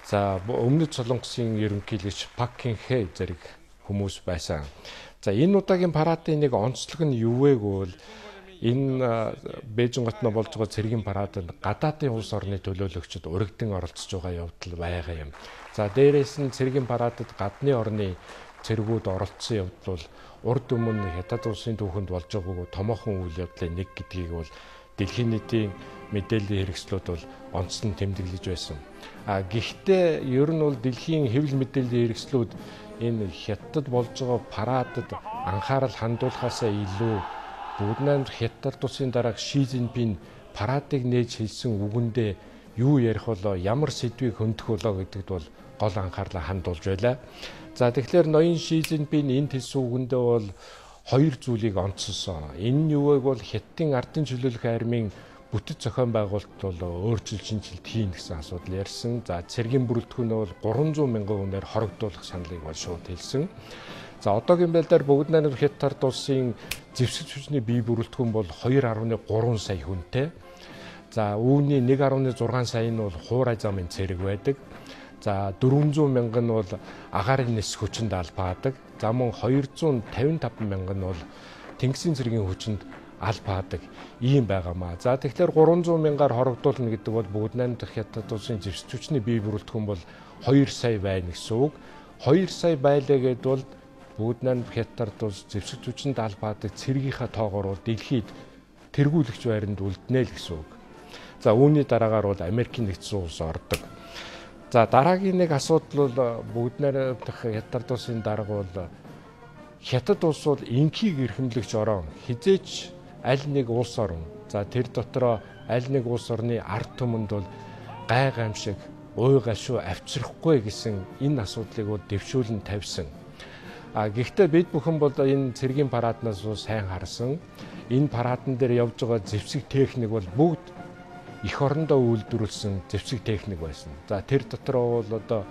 Speaker 10: за өмнөд Солонгосын ерөнхийлөгч Пак Кин Хэ зэрэг хүмүүс байсан. За энэ удаагийн парадын нэг онцлог нь юу вэ гэвэл энэ Бээжин хотноо болж байгаа цэргийн парадад гадаадын улс орны төлөөлөгчид урагдан оролцож байгаа явдал байгаа юм. За дээрээс нь цэргийн парадад гадны орны цэргүүд оролцсон явдал бол урд өмнө Хятад улсын түүхэнд болж байгаагүй томоохон үйл явдлын нэг гэдгийг бол дэлхийн нийтийн мэдээллийн хэрэгслүүд бол онцлон тэмдэглэж байсан. А гэхдээ ер нь бол дэлхийн хэвлэл мэдээллийн хэрэгслүүд энэ Хятад болж байгаа парадад анхаарал хандуулахаасаа илүү бүгд найрамдах Хятад улсын дарга Ши Цзиньпин парадыг нээж хэлсэн үгэндээ юу ярих болоо, ямар сэдвийг хөндөх болоо гэдэгт бол гол анхаарлаа хандуулж байлаа. За тэгэхээр ноён Ши Цзиньпин энд хэлсэн үгэндээ бол хоёр зүйлийг онцолсон. Энэ нь юу вэ гэвэл Хятадын ардын чөлөөлөх армийн бүтэц зохион байгуулалт бол өөрчлөлт шинжилт хийн гэсэн асуудал ярьсан. За цэргийн бүрэлдэхүүн бол гурван зуун мянган хүнээр хоригдуулах саналыг бол шууд хэлсэн. За одоогийн байдлаар бүгд найрамдах Хятад ард улсын зэвсэг хүчний бие бүрэлдэхүүн бол two point three сая хүнтэй. За үүний one point six сая нь бол хуурай замын цэрэг байдаг. За four hundred мянга нь бол агаарын нис хүчинд албаадаг. За мөн two hundred fifty-five мянга нь бол тэнгисийн цэргийн хүчинд албаадаг ийм байгаамаа. За тэгэхээр three hundred мянгаар хоригдуулна гэдэг бол бүгд найрамдах Хятад улсын зэвсэг хүчний бие бүрэлдэхүүн бол two сая байна гэсэн үг. two сая байлаа гэдээ бол бүгд найрамдах Хятад улс зэвсэг хүчинд албаадаг цэргийнхаа тоогоор бол дэлхийд тэргүүлэгч байранд үлднэ л гэсэн үг. За үүний дараагаар бол Америкийн нэгдсэн улс ордог. За дараагийн нэг асуудал бол бүгд найрамдах Хятад улсын дарга бол Хятад улс бол инхийг эрхэмлэгч орон хизээч аль нэг улс орн. За тэр дотроо аль нэг улс орны ард түмэнд бол гай гамшиг, уй гашуу авчрахгүй гэсэн энэ асуудлыг бол дэвшүүлэн тавьсан. А гэхдээ бид бүхэн бол энэ цэргийн параднаас сайн харсан. Энэ парадн дээр явж байгаа зэвсэг техник бол бүгд эх орондоо үйлдвэрлэсэн зэвсэг техник байсан. За тэр дотроо бол одоо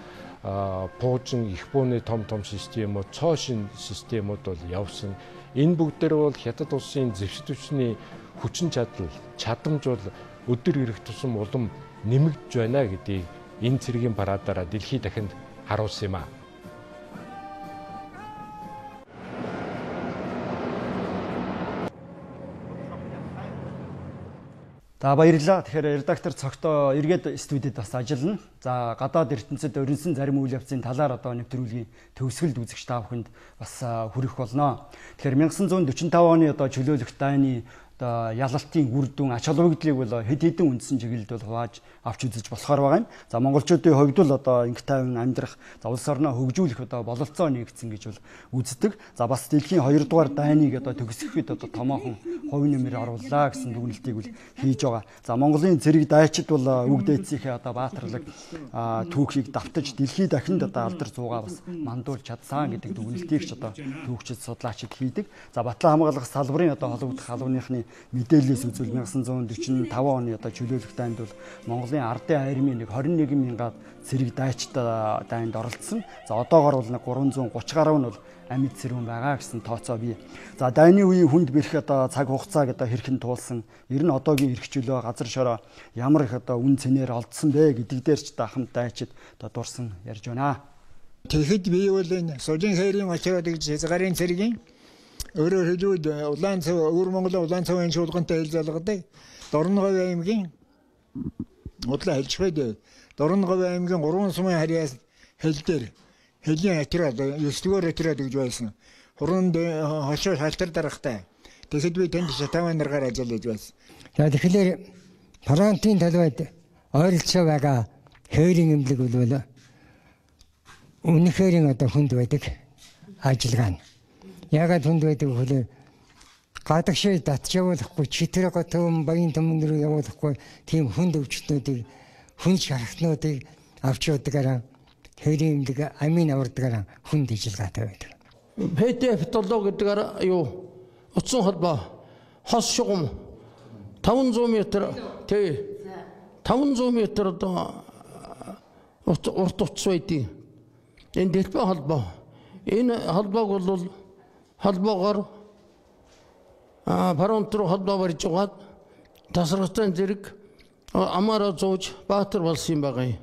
Speaker 10: пуужин их бууны том том системүүд, цоо шин системүүд бол явсан. Энэ бүгдээр бол Хятад улсын зэвсэг түвшний хүчин чадал, чадамж бол өдөр ирэх тусам улам нэмэгдэж байна гэдгийг энэ цэргийн парадаараа дэлхийд дахинд харуулсан юм а.
Speaker 1: За баярлалаа. Тэгэхээр редактор цогтоо эргээд студид бас ажиллана. За гадаад ертөнцид өрнсөн зарим үйл явцын талаар одоо нэвтрүүлгийн төгсгөлд үзэгч та бүхэнд бас хүрэх болно. Тэгэхээр 천구 сая45 оны одоо чөлөөлөх дайны одоо ялалтын үр дүн ач холбогдлыг бол хэд хэдэн үндсэн чиглэлд бол хувааж авч үзэж болохоор байгаа юм. За монголчуудын хувьд бол одоо инх тайван амьдрах, за улс орноо хөгжүүлэх одоо бололцоо нэгдсэн гэж бол үздэг. За бас дэлхийн хоёрдугаар дайныг одоо төгсгөхөд одоо томоохон хувь нэмэр оруулаа гэсэн дүгнэлтийг бол хийж байгаа. За Монголын цэрэг дайчид бол үг дээдсийнхээ одоо баатарлаг түүхийг давтаж дэлхийд дахинд одоо алдар цуугаа бас мандуулж чадсан гэдэг дүгнэлтийг ч одоо түүхчид судлаачид хийдэг. За Батлан хамгаалах салбарын одоо холбогдох халууныхны мэдээлэлээс үзвэл 천구 сая45 оны одоо чөлөөлөх дайнд бол Монголын ардын армийн нэг двадцать one мянга цэрэг дайчтай дайнд оролцсон. За одоогоор бол нэг тhree hundred thirty гаруй нь бол амьд цэрүүн байгаа гэсэн тооцоо бий. За дайны үеийн хүнд бэрх одоо цаг хугацааг одоо хэрхэн туулсан, ер нь одоогийн эрх чөлөө газар шороо ямар их одоо үн цэнээр олдсон бэ гэдэг дээр ч дахамт дайчид одоо дурсан ярьж байна.
Speaker 11: Тэгэхэд би бол энэ сужин хэрийн очроод гэж хязгаарын цэргийн өөрөөр хэлбэл улаан цав өвөр Монголын улаан цавын шуулгантай хэл залгадаг Дорноговь аймгийн удлаа хэлж байдаг. Дорноговь аймгийн гурван сумын харьяас хэл дээр хэлийн атраад ёслогоор атраад гэж байсан. Хуранд хошоо шалтар дарахтай. Тэгэхэд би тэнд шатаван наргаар ажиллаж байсан.
Speaker 12: За тэгэхээр фронтын талбайд ойролцоо байгаа хээрийн эмнэлэг бол үнэхээр одоо хүнд байдаг ажиллагаа нь. Ягаад хүнд байдаг вэ? Гадагшаа татж явуулахгүй, читэр готом баян төмөн рүү явуулахгүй тийм хүнд өвчтнүүдийг, хүн шархтнуудыг авч явдагаараа хээрийн эмнэлэг амийн авардагаараа хүнд ажиллагаатай байдаг.
Speaker 13: пэ тэ эф толгой гэдгээр юу утсан холбоо хос шугам five hundred метр тий five hundred метр одоо урт утас байдیں۔ Энэ дэлбээ холбоо. Энэ холбоог бол холбоогоор а фронт руу холбоо барьж угаад тасрагтай зэрэг амаараа зууж баатар болсон юм байгаа юм.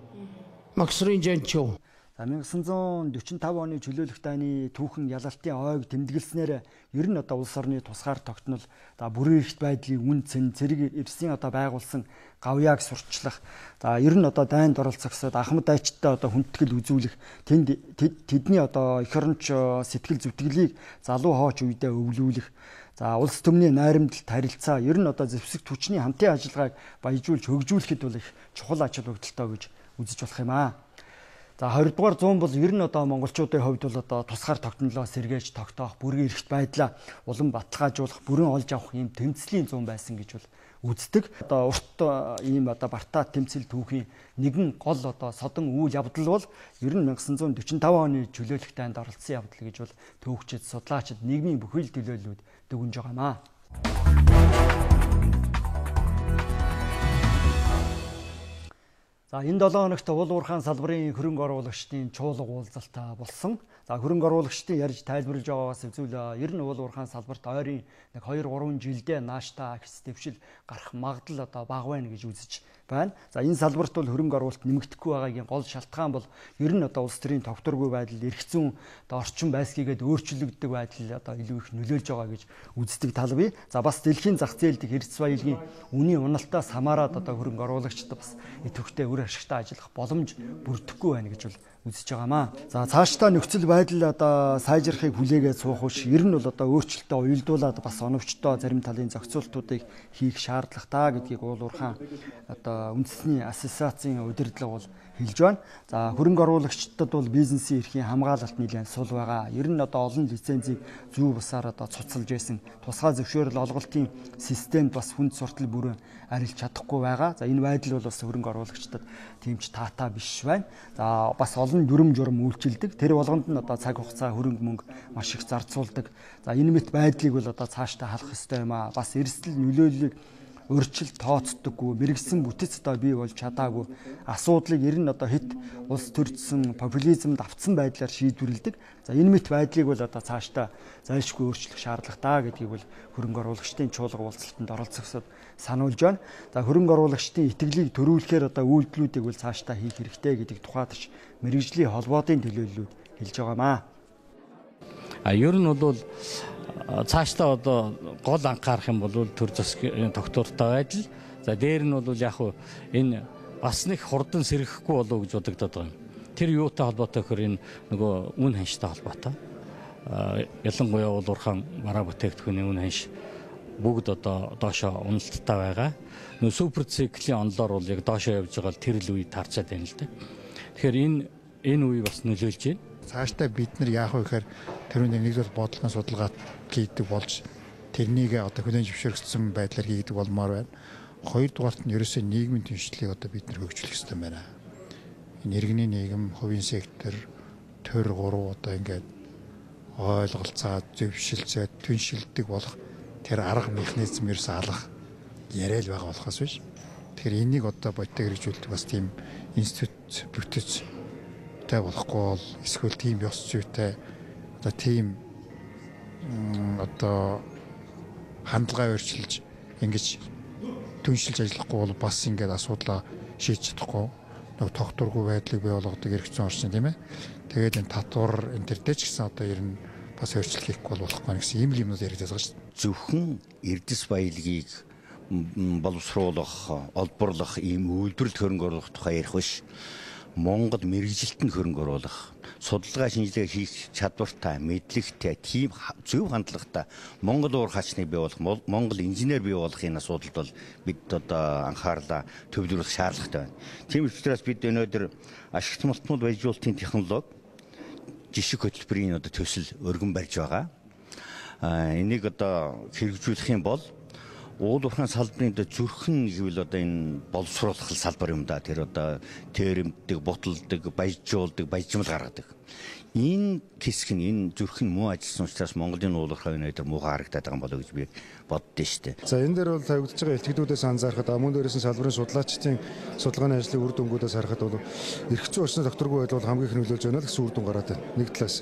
Speaker 13: Максрын жанчуу.
Speaker 1: 천구 сая45 оны чөлөөлөх дайны түүхэн ялалтын ойг тэмдэглэснээр ер нь одоо улс орны тусгаар тогтнол за бүрэн эрхт байдлын үн цэн цэрэг эрсийн одоо байгуулсан гавьяаг сурчлах за ер нь одоо дайнд оролцохсод ахмад дайчтай одоо хүндэтгэл үзүүлэх тэнд тэдний одоо эх оронч сэтгэл зүтгэлийг залуу хооч үедээ өвлүүлэх за улс төмний найрамдалт харилцаа ер нь одоо зэвсэг түвшний хамтын ажиллагааг баяжуулж хөгжүүлэхэд бол их чухал ач холбогдолтой гэж үзэж болох юм аа. За twenty дугаар зуун бол ер нь одоо монголчуудын хувьд бол одоо тусгаар тогтнолоо сэргээж тогтоох, бүрэн эрхт байдлаа улам баталгаажуулах, бүрэн олж авах юм тэмцлийн зуун байсан гэж бол үздэг. Одоо урт ийм одоо бартаа тэмцэл түүхийн нэгэн гол одоо содон үйл явдал бол ер нь 천구 сая45 оны чөлөөлөх дайнд оролцсон явдал гэж бол төвөгчд, судлаачид, нийгмийн бүхэл төлөөллүүд дүгнж байгаа маа. За энэ долоо хоногт уул уурхайн салбарын хөрөнгө оруулагчдын чуулга уулзалт болсон. За хөрөнгө оруулагчдын ярьж тайлбарлаж байгаагаас үзвэл ер нь уул уурхайн салбарт ойрын нэг two three жилдээ нааштай ахис дэвшил гарах магадлал одоо бага байна гэж үзэж байна. За энэ салбарт бол хөрөнгө оруулалт нэмэгдэхгүй байгаагийн гол шалтгаан бол ер нь одоо улс төрийн тогтворгүй байдал, эрх зүйн одоо орчин байсгийгээд өөрчлөгддөг байдал одоо илүү их нөлөөлж байгаа гэж үздэг тал бий. За бас дэлхийн зах зээлд эрдэс баялагын үнийн уналтаас хамаарат одоо хөрөнгө оруулагчид бас идэвхтэй үр ашигтай ажиллах боломж бүрдэхгүй байна гэж бол үзэж байгаамаа. За цаашдаа нөхцөл байдал одоо сайжрахыг хүлээгээд суух уш ер нь бол одоо өөрчлөлтөө уялдуулаад бас оновчтой зарим талын зохицуултуудыг хийх шаардлагатай гэдгийг уул уурхаан одоо үндэсний ассоциацийн удирдлага бол хэлж байна. За хөрөнгө оруулагчдад бол бизнесийн эрхийн хамгаалалт нэлээд сул байгаа. Ер нь одоо олон лицензийг зүү бусаар одоо цуцалж байсан тусгай зөвшөөрөл олголтын системд бас хүнд суртал бүрэн арилж чадахгүй байгаа. За энэ байдал бол бас хөрөнгө оруулагчдад тийм ч таатай биш байна. За бас олон дүрм журм үйлчилдэг. Тэр болгонд нь одоо цаг хугацаа хөрөнгө мөнгө маш их зарцуулдаг. За энэ мэт байдлыг бол одоо цаашдаа халах ёстой юм аа. Бас эрсдэл нөлөөллийг өрчлөлт тооцдоггүй, мэрэгсэн бүтэц одоо бий болж чадаагүй асуудлыг ер нь одоо хит улс төрчсөн популизмд автсан байдлаар шийдвэрлэдэг. За энэ мэт байдлыг бол одоо цаашдаа зайлшгүй өөрчлөх шаардлагатай гэдгийг бол хөрөнгө оруулагчдын чуулга уулзалтанд оролцогчдод сануулж байна. За хөрөнгө оруулагчдын итгэлийг төрүүлэхээр одоо үйлдэлүүдийг бол цаашдаа хийх хэрэгтэй гэдгийг тухайдч мэрэгжлийн холбоодын төлөөллүүд хэлж байгаамаа.
Speaker 14: А ер нь бол цаашдаа одоо гол анхаарах юм бол төр засгийн тогтвортой байдал. За дээр нь бол яг хуу энэ бас нэг хурдан сэргэхгүй болов гэж бодогдоод байгаа юм. Тэр юутай холбоотой гэхээр энэ нөгөө үн ханштай холбоотой. Ялангуяа бол урхан мараа бүтээгдэхүүний үн ханш бүгд одоо доошоо уналттай байгаа. Нөгөө супер циклийн онлоор бол яг доошоо явж байгаа тэр л үе таарчаад байна л да. Тэгэхээр энэ энэ үе бас нөлөөлж байна.
Speaker 15: Цаашдаа бид нар яах вэ гэхээр тэрүүний нэгдүгээр бодлогын судалгаа хийдэг болж тэрнийг одоо хүлээн зөвшөөрөгдсөн байдлаар хийдэг болмоор байна. Хоёрдугаарт нь ерөөсөө нийгмийн түншлэлийг одоо бид нар хөгжүүлэх хэрэгтэй байна. Энэ иргэний нийгэм, хувийн сектор, төр гурав одоо ингээд ойлголцоод, зөвшөлцөөд, түншилдэг болох тэр арга механизм ерөөсөө алах яриа л байгаа болохоос биш. Тэгэхээр энийг одоо бодиттой хэрэгжүүлдэг бас тийм институт бүтэц тай болохгүй бол эсвэл тийм ёс зүйтэй одоо тийм одоо хандлага өөрчилж ингэж түншилж ажиллахгүй бол бас ингээд асуудлаа шийдэж чадахгүй нэг тогтворгүй байдлыг бий болгодог хэрэгцээ орчин тийм ээ. Тэгээд энэ татвар энэ төр дэч гэсэн одоо ер нь бас өөрчлөлт хийхгүй болохгүй гэсэн ийм л юмнууд яриад байгаа шүү дээ.
Speaker 16: Зөвхөн эрдэс баялагийг боловсруулах, олборлох ийм үйлдвэрлэл хөрөнгө оруулах тухай ярих биш. Монгол мэрэгжилтэнд хөрөнгө оруулах, судалгаа шинжилгээ хийх чадвартай, мэдлэгтэй, тийм зөв хандлагатай Монгол уур хаачныг бий болох, Монгол инженер бий болохын асуудалд бол бид одоо анхаарлаа төвлөрөх шаардлагатай байна. Тийм учраас бид өнөөдөр ашигт малтмууд баяжуулалтын технологи жишг хөтөлбөрийн одоо төсөл өргөн барьж байгаа. Энийг одоо хэрэгжүүлэх юм бол уул уурхайн салбарын зүрхэн гэвэл одоо энэ боловсруулах салбар юм да. Тэр одоо тэрэмдэг, буталдаг, баяжуулдаг, баяжмал гаргадаг. Энэ хэсэг нь энэ зүрхэн муу ажилласан учраас Монголын уул уурхайн өнөөдөр муу харагдаад байгаа юм болоо гэж би боддөө шүү дээ.
Speaker 17: За энэ дээр бол тавигдж байгаа илтгэгдүүдээс анзаарахад мөн дээрээс нь салбарын судлаачдын судалгааны ажлын үр дүнгуудаас харахад бол эрх зүйн орчны докторгүй байдал бол хамгийн их нөлөөлж байна л гэсэн үр дүн гараад байна. Нэг талаас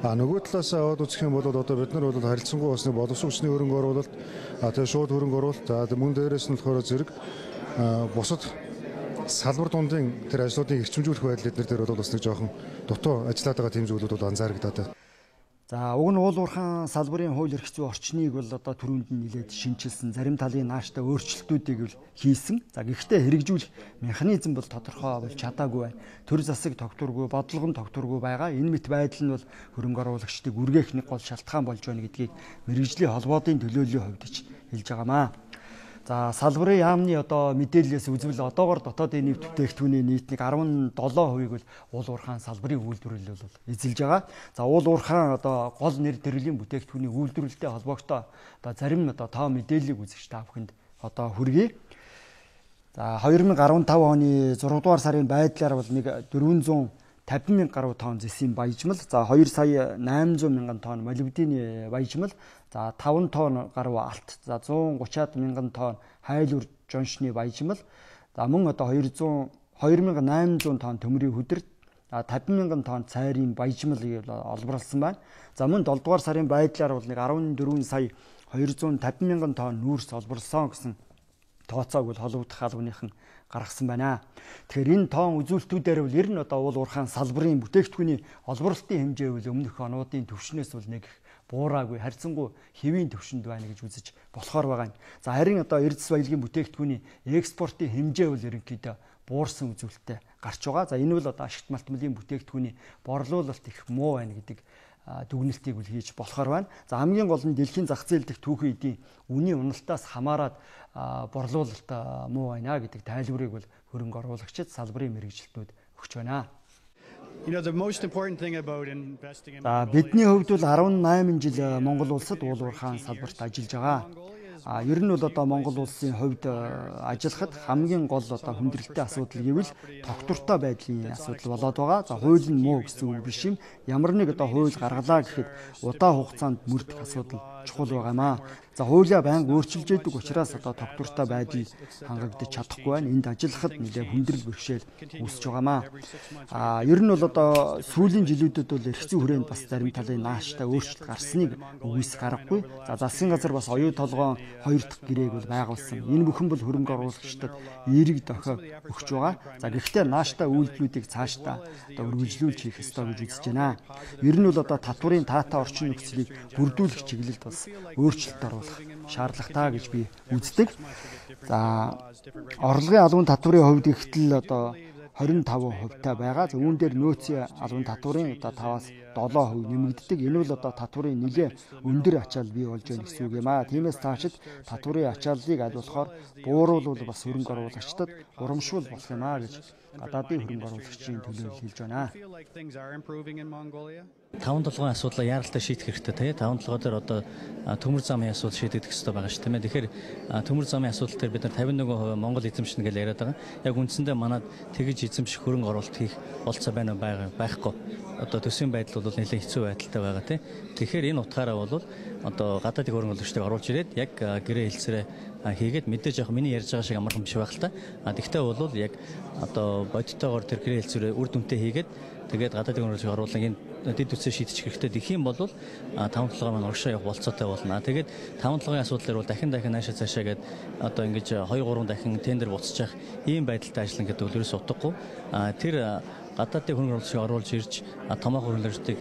Speaker 17: а нөгөө талаас аваад үзэх юм бол одоо бид нар бол харилцангуй усны боловсон хүчний хөрөнгө оруулалт а тэгээ шууд хөрөнгө оруулалт за мөн дээрээс нь болохоор зэрэг бусад салбар дундын тэр ажлуудыг эрчимжүүлэх байдал эдгээр дээр бол бас нэг жоохон дутуу ажиллаад байгаа тийм зүйлүүд бол анзаарагдаад байна.
Speaker 1: За уг нь уул уурхайн салбарын хууль эрх зүйн орчныг бол одоо түрүүнд нь нэлээд шинжилсэн, зарим талын нааштай өөрчлөлтүүдийг бол хийсэн. За гэхдээ хэрэгжүүлэх механизм бол тодорхой болж чадаагүй байна. Төр засаг тогтворгүй, бодлого нь тогтворгүй байгаа. Энэ мэт байдал нь бол хөрөнгө оруулагчдыг үргээх нэг гол шалтгаан болж байна гэдгийг мэрэгжлийн холбоодын төлөөллийн хувьд ч хэлж байгаамаа. За салбарын яамны одоо мэдээлэлээс үзвэл одоогоор дотоодын нийт бүтээгдэхүүний нийт нэг арван долоо хувийг бол уул уурхайн салбарын үйлдвэрлэл бол эзэлж байгаа. За уул уурхайн одоо гол нэр төрлийн бүтээгдэхүүний үйлдвэрлэлтэй холбоогтой одоо зарим одоо тоо мэдээллийг үзэж та бүхэнд одоо хүргэе. За две тысячи десятый оны зургаадугаар сарын байдлаар бол нэг дөрвөнзөөн тавин мянга гаруй тонн зэсийн баяжмал, за хоёр сая найман зуун мянган тонн молибдены баяжмал, за таван тонн гаруй алт, за зуун гучаад мянган тонн хайлуур жоншны баяжмал, за мөн одоо хоёр мянган найман зуун тонн төмрийн хөдөр, тавин мянган тонн цайрын баяжмал олборлсон байна. За мөн долоо дугаар сарын байдлаар бол нэг арван дөрвөн сая двести пятьдесят мянган тонн нүүрс олборлсон гэсэн тооцоог бол холбогдох албаныхан гаргасан байна. Тэгэхээр энэ тоон үзүүлэлтүүдээр бол ер нь одоо уул уурхайн салбарын бүтээгдэхүүний олборлолтын хэмжээ бол өмнөх онуудын түвшнээс бол нэг буураагүй, харьцангуй хэвийн түвшинд байна гэж үзэж болохоор байгаа юм. За харин одоо эрдэс баялагын бүтээгдэхүүний экспортын хэмжээ бол ерөнхийдөө буурсан үзүүлэлттэй гарч байгаа. За энэ бол одоо ашигт малтмалын бүтээгдэхүүний борлуулалт их муу байна гэдэг дүгнэлтийг үл хийж болохоор байна. За хамгийн гол нь дэлхийн зах зээл дэх түүхэн эдийн үнийн уналтаас хамаарат борлуулалт муу байна гэдэг тайлбарыг бол хөрөнгө оруулагчид, салбарын мэргэжилтнүүд өгч байна. За бидний хувьд бол арван найман жил Монгол улсад уул уурхайн салбарт ажиллаж байгаа. А ер нь бол одоо Монгол улсын хувьд ажиллахад хамгийн гол одоо хүндрэлтэй асуудал гэвэл тогтвортой байдлын асуудал болоод байгаа. За хууль нь муу гэсэн үг биш юм. Ямар нэг одоо хууль гаргалаа гэхэд удаа хугацаанд мөрдөх асуудал чухал байгаамаа. За хуулиа байнга өөрчилж яадаг учраас одоо тогтвортой байдал хангагдаж чадахгүй байна. Энд ажиллахад нэлээд хүндрэл бэрхшээл үүсэж байгаамаа. А ер нь бол одоо сүүлийн жилүүдэд бол эрх зүйн хүрээнд бас зарим талын нааштай өөрчлөлт гарсныг үгүйсэх аргагүй. За засгийн газар бас оюу толгоон хоёр дахь гэрээг бол байгуулсан. Энэ бүхэн бол хөрөнгө оруулагчдад эерэг дохио өгч байгаа. За гэхдээ нааштай үйлдэлүүдийг цаашдаа одоо үргэлжлүүлж хийх ёстой гэж үзэж байна. Ер нь бол одоо татварын таатай орчин нөхцөлийг бүрдүүлэх чиглэлд бас өөрчлөлт оруулах шаардлагатай гэж би үздэг. За орлогын албан татварын хувьд ихтэл одоо двадцать пять хувьтай байгаа. За үүн дээр нөөцийн албан татварын одоо таваас seven percent нэмэгддэг. Энэ бол одоо татварын нэлээд өндөр ачаал бий болж байна гэсэн үг юм аа. Тиймээс цаашид татварын ачааллыг аль болохоор бууруулвал бас хөрөнгө оруулагчдад урамшуул болох юм аа гэж гадаадын хөрөнгө оруулагчийн төлөөлөл хэлж байна.
Speaker 14: таван толгойн асуудлаа яаралтай шийдэх хэрэгтэй. таван толгой дээр одоо төмөр замын асуудал шийдэгдэх хэрэгтэй байгаа шүү дээ. Тэгэхээр төмөр замын асуудал дээр бид нар fifty-one percent Монгол эзэмшнэ гэж яриад байгаа. Яг үндсэндээ манад тэгж эзэмших хөрөнгө оруулалт хийх болцоо байна уу байхгүй. Одоо төсвийн байдал бол нэлээд хэцүү байдалтай байгаа тийм. Тэгэхээр энэ утгаараа бол одоо гадаадын хөрөнгө оруулагчдыг оруулж ирээд яг гэрээ хэлцээрээ хийгээд мэдээж яг миний ярьж байгаа шиг амархан биш байх л та. А тэгтээ бол яг одоо бодиттойгоор тэр гэрээ хэлцээрээ үр дүнтэй хийгээд тэгээд гадаадын хөрөнгө оруулагчийг оруулах энэ дэд үтсээ шийдчих хэрэгтэй. Тэгэх юм бол таван толгой маань урагшаа явах болцоотой болно. Тэгээд таван толгойн асуудлаар бол дахин дахин наашаа цаашаа гээд одоо ингэж two three дахин тендер буцчих ийм байдалтай ажиллана гэдэг бол ерөөс утгагүй. Тэр гадаадын хөрөнгө оруулагчийг оруулж ирж томоохон хөрөнгө оруулагчдыг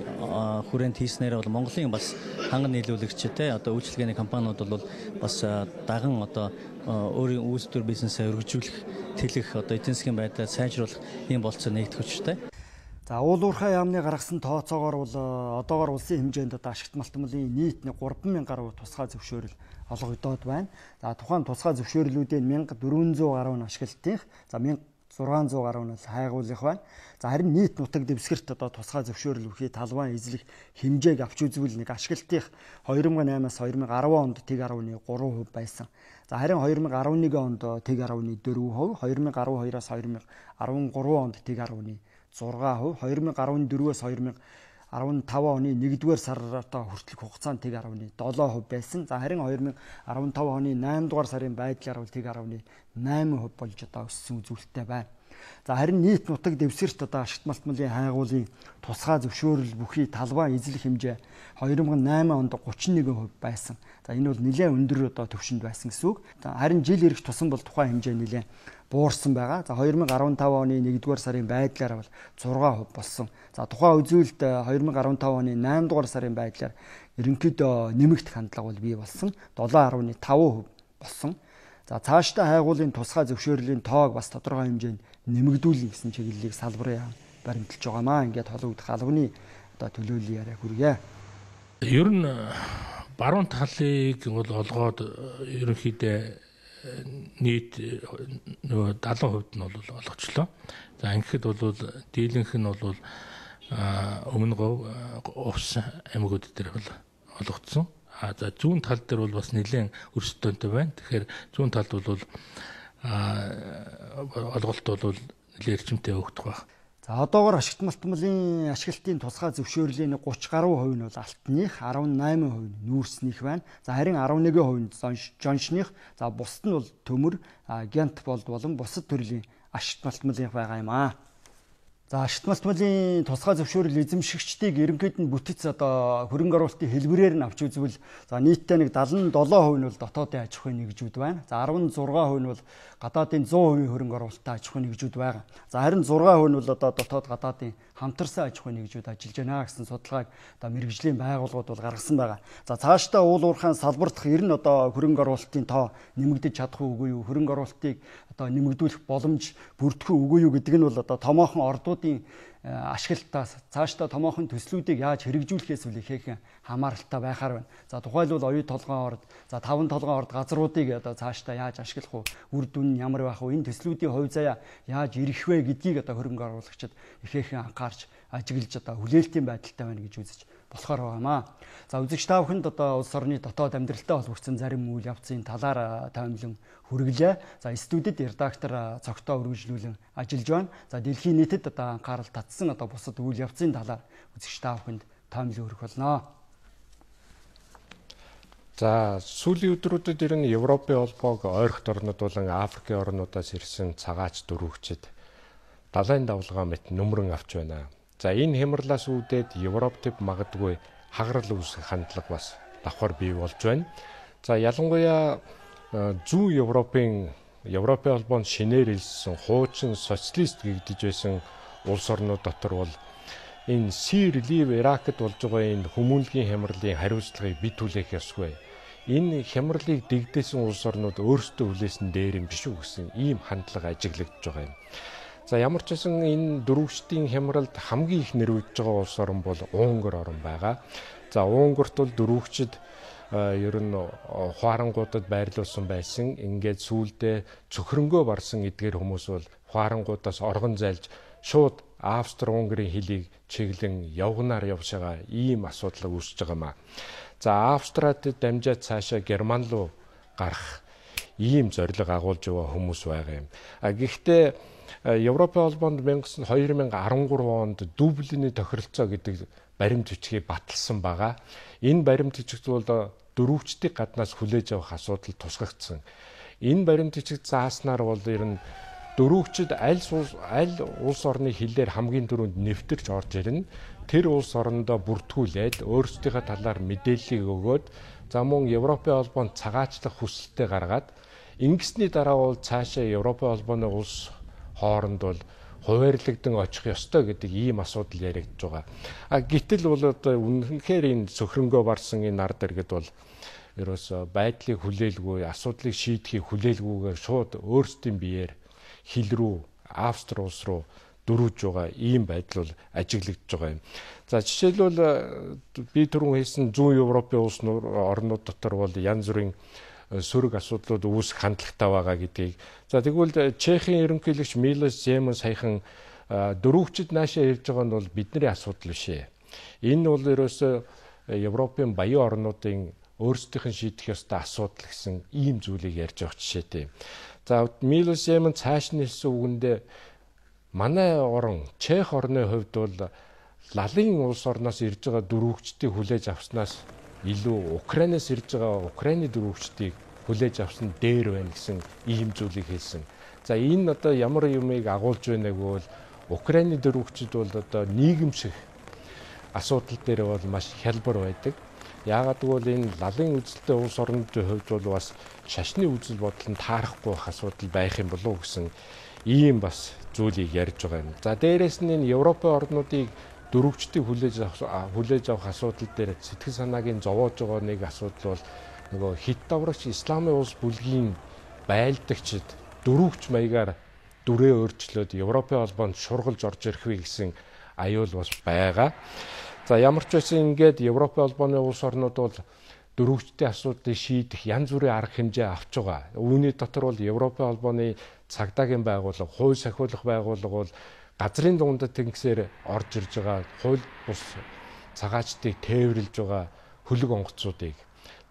Speaker 14: хүрээнд хийснээр бол Монголын бас ханган нийлүүлэгчтэй одоо үйлчилгээний компаниуд бол бас даган одоо өөрийн үйлдвэр бизнесээ өргөжүүлэх, тэлэх одоо эдийн засгийн байдлаа сайжруулах ийм болцоо нэгдэх хүчтэй.
Speaker 1: За уул уурхай яамны гаргасан тооцоогоор бол одоогоор улсын хэмжээнд одоо ашигт малтмалын нийт three thousand гаруй тусгай зөвшөөрөл олгогдоод байна. За тухайн тусгай зөвшөөрлүүдийн one thousand four hundred гаруй нь ашиглалтынх, за one thousand six hundred гаруй нь хайгуулах байна. За харин нийт нутаг дэвсгэрт одоо тусгай зөвшөөрөл өгөхий талбай эзлэх хэмжээг авч үзвэл нэг ашиглалтынх two thousand eight-аас two thousand ten онд тэг ten point three percent байсан. За харин two thousand eleven онд тэг ten point four percent, two thousand twelve-аас two thousand thirteen онд тэг ten point six percent, two thousand fourteen-аас two thousand fifteen оны нэгдүгээр сарраа хүртэлх хугацаанд тэг ten point seven percent байсан. За харин two thousand fifteen оны nine дугаар сарын байдлаар бол тэг ten point eight percent болж одоо өссөн үзүүлэлттэй байна. За харин нийт нутаг дэвсгэрт одоо ашигт малтмалын хайгуулын тусгай зөвшөөрөл бүхий талбай эзлэх хэмжээ two thousand eight онд thirty-one percent байсан. За энэ бол нэлээд өндөр одоо төвшөнд байсан гэсэн үг. Харин жил ирэх тусам бол тухайн хэмжээ нэлээд буурсан байгаа. За two thousand fifteen оны нэгдүгээр сарын байдлаар бол six percent болсон. За тухайн үзүүлэлт two thousand fifteen оны nine дугаар сарын байдлаар ерөнхийдөө нэмэгдэх хандлага бол бий болсон. seven point five percent болсон. За цаашдаа хайгуулын тусгай зөвшөөрлийн тоог бас тодорхой хэмжээнд нэмэгдүүлнэ гэсэн чиглэлийг салбарын яам баримталж байгаамаа. Ингээд холбогдох албаны одоо төлөөллийн яриа хүргье.
Speaker 18: Ер нь баруун талыг бол олгоод ерөнхийдөө нийт нөгөө seventy percent нь бол олгочлоо. За ингэхэд бол дийлэнх нь бол өмнө гов увс аймагуд дээр бол олгогдсон. А за зүүн тал дээр бол бас нэлээд өрсөлдөөнтэй байна. Тэгэхээр зүүн талд бол олголт бол нэлээд эрчимтэй өгдөх байна.
Speaker 1: За одоогоор ашигт малтмалын ашиглалтын тусгай зөвшөөрлийн thirty гаруй хувь нь бол алтных, eighteen percent нь нүүрснийх байна. За харин eleven percent жоншных, за бусд нь бол төмөр, гянт болд болон бусад төрлийн ашигт малтмалынх байгаа юм аа. За ашигт малтмалын тусгай зөвшөөрөл эзэмшигчдийг ерөнхийд нь бүтэц одоо хөрөнгө оруулалтын хэлбэрээр нь авч үзвэл за нийтдээ нэг седем хувь нь бол дотоодын аж ахуйн нэгжүүд байна. За шестнадцать хувь нь бол гадаадын сто хувийн хөрөнгө оруулалттай аж ахуйн нэгжүүд байгаа. За харин шесть хувь нь бол одоо дотоод гадаадын хамтарсан аж ахуйн нэгжүүд ажиллаж байна гэсэн судалгааг одоо мэргэжлийн байгууллагууд бол гаргасан байгаа. За цаашдаа уул уурхайн салбартах ер нь одоо хөрөнгө оруулалтын тоо нэмэгдэж чадах үгүй юу? Хөрөнгө оруулалтыг одоо нэмэгдүүлэх боломж бүрдэх үгүй юу гэдэг нь бол одоо томоохон ордуудын ашиглалтаас цаашдаа томоохон төслүүдийг яаж хэрэгжүүлэхээс үл ихээхэн хамааралтай байхаар байна. За тухайлбал оюу толгойн орд, за таван толгойн орд газруудыг одоо цаашдаа яаж ашиглах вэ? Үр дүн нь ямар байх вэ? Энэ төслүүдийн хувь заяа яаж ирэх вэ гэдгийг одоо хөрөнгө оруулагчид ихээхэн анхаарч ажиглаж одоо хүлээлтийн байдалтай байна гэж үзэж болохоор байгаамаа. За үзэгч та бүхэнд одоо улс орны дотоод амьдралтай холбогдсон зарим үйл явцын талаар таймлан хүргэлээ. За студид редактор цогтоо үргэлжлүүлэн ажиллаж байна. За дэлхийн нийтэд одоо анхаарал татсан одоо бусад үйл явцын талаар үзэгч та бүхэнд таймлан хүргэх болно.
Speaker 10: За сүүлийн өдрүүдэд ер нь Европын холбоог ойрхот орнууд болон Африкийн орнуудаас ирсэн цагаач дөрвөгчд далайн давлгаа мэт нүмрэн авч байна. За энэ хямралаас үүдээд Европ төв магадгүй хагарал үүсэх хандлага бас давхар бий болж байна. За ялангуяа зүүн Европын Европын холбоонд шинээр илсэн хуучин социалист гэгдэж байсан улс орнууд дотор бол энэ Сир, Лив, Иракт болж байгаа энэ хүмүүнлэгийн хямралын хариуцлагыг бий түлээх ёсгүй. Энэ хямралыг дэгдээсэн улс орнууд өөрсдөө хүлээсэн дээр юм биш үү гэсэн ийм хандлага ажиглагдж байгаа юм. За ямар ч байсан энэ дөрвөгчдийн хямралд хамгийн их нэрвэж байгаа улс орн бол Унгар орн байгаа. За Унгарт бол дөрвөгчд ер нь хуарангуудад байрлуулсан байсан. Ингээд сүүлдээ цөхрөнгөө барсан эдгээр хүмүүс бол хуарангуудаас оргон зайлж шууд Австри-Унгарын хөлийг чиглэн явганаар явж байгаа ийм асуудал үүсэж байгаамаа. За Австрад дамжаад цаашаа Герман руу гарах ийм зорилго агуулж байгаа хүмүүс байгаа юм. А гэхдээ Европын холбоонд две тысячи десять онд Дублиний тохиролцоо гэдэг баримт бичгийг баталсан байгаа. Энэ баримт бичигт бол дөрвөгчдийн гаднаас хүлээж авах асуудал тусгагдсан. Энэ баримт бичиг зааснаар бол ер нь дөрвөгчд аль аль улс орны хилээр хамгийн түрүүнд нэвтэрч орж ирнэ. Тэр улс орондоо бүртгүүлээд өөрсдийнхээ талаар мэдээллийг өгөөд за мөн Европын холбоонд цагаачлах хүсэлтээ гаргаад ингэсний дараа бол цаашаа Европын холбооны улс хооронд бол хуваарлагдсан очих ёстой гэдэг ийм асуудал яригдж байгаа. А гэтэл бол одоо үнэхээр энэ цөхрөнгөө барсан энэ ард иргэд бол ерөөсө байдлыг хүлээлгүй, асуудлыг шийдэхийг хүлээлгүйгээр шууд өөрсдийн биеэр хил рүү, Австри улс руу дөрвөж байгаа ийм байдал бол ажиглагдж байгаа юм. За жишээлбэл би түрүүн хэлсэн зүүн Европын улс орнууд дотор бол янз бүрийн сөрөг асуудлууд үүсэх хандлагатай байгаа гэдгийг. За тэгвэл Чехийн ерөнхийлөгч Милош Земан саяхан дөрвөгчд наашаа ирж байгаа нь бол бидний асуудал биш ээ. Энэ бол ерөөсөө Европын баян орнуудын өөрсдийнх нь шийдэх ёстой асуудал гэсэн ийм зүйлийг ярьж байгаа жишээтэй. За Милош Земан цааш нь хэлсэн үгэндээ манай орн Чех орны хувьд бол лалын улс орноос ирж байгаа дөрвөгчдийг хүлээж авснаас илүү Украинаас ирж байгаа Украины дөрвөгчдийг хүлээж авсан дээр байна гэсэн ийм зүйлийг хэлсэн. За энэ одоо ямар юмыг агуулж байна гэвэл Украины дөрвөгчд бол одоо нийгэмших асуудал дээр бол маш хялбар байдаг. Яагаад гэвэл энэ лалын үзэлтэй улс орнуудын хувьд бол бас шашны үзэл бодол нь таарахгүй байх асуудал байх юм болов уу гэсэн ийм бас зүйлийг ярьж байгаа юм. За дээрээс нь энэ Европын орнуудыг дөрвөгчдийг хүлээж авах хүлээж авах асуудал дээр сэтгэл санаагийн зовоож байгаа нэг асуудал бол нөгөө хит даврагч исламын улс бүлгийн байлдагчид дөрвөгч маягаар дүрээ өөрчлөөд Европын холбоонд шургалж орж ирэх вэ гэсэн аюул бас байгаа. За ямар ч байсан ингээд Европын холбооны улс орнууд бол дөрвөгчдийн асуудлыг шийдэх янз бүрийн арга хэмжээ авч байгаа. Үүний дотор бол Европын холбооны цагдаагийн байгууллага, хууль сахиулах байгууллага бол газрын дундад тэнгисээр орж ирж байгаа хууль бус цагаачдыг тээвэрлж байгаа хөлөг онгоцуудыг.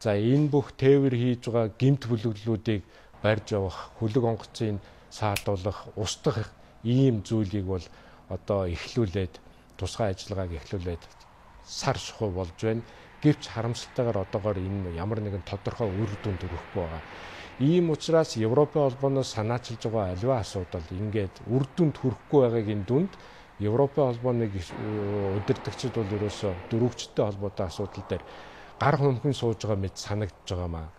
Speaker 10: За энэ бүх тээвэр хийж байгаа гэмт бүлэглүүдийг барьж явах, хөлөг онгоцыг саатуулах, устгах ийм зүйлийг бол одоо эхлүүлээд тусгай ажиллагааг эхлүүлээд сар шухуу болж байна. Гэвч харамсалтайгаар одоогоор энэ ямар нэгэн тодорхой үр дүнд хүрэхгүй байгаа. Ийм учраас Европын холбооноос санаачилж байгаа аливаа асуудал ингээд үр дүнд хүрэхгүй байгаагийн дүнд Европын холбооны удирдагчид бол ерөөсөө дөрвөгчтэй холбоотой асуудал дээр гар хөмхөн сууж байгаа мэт санагдж байгаамаа.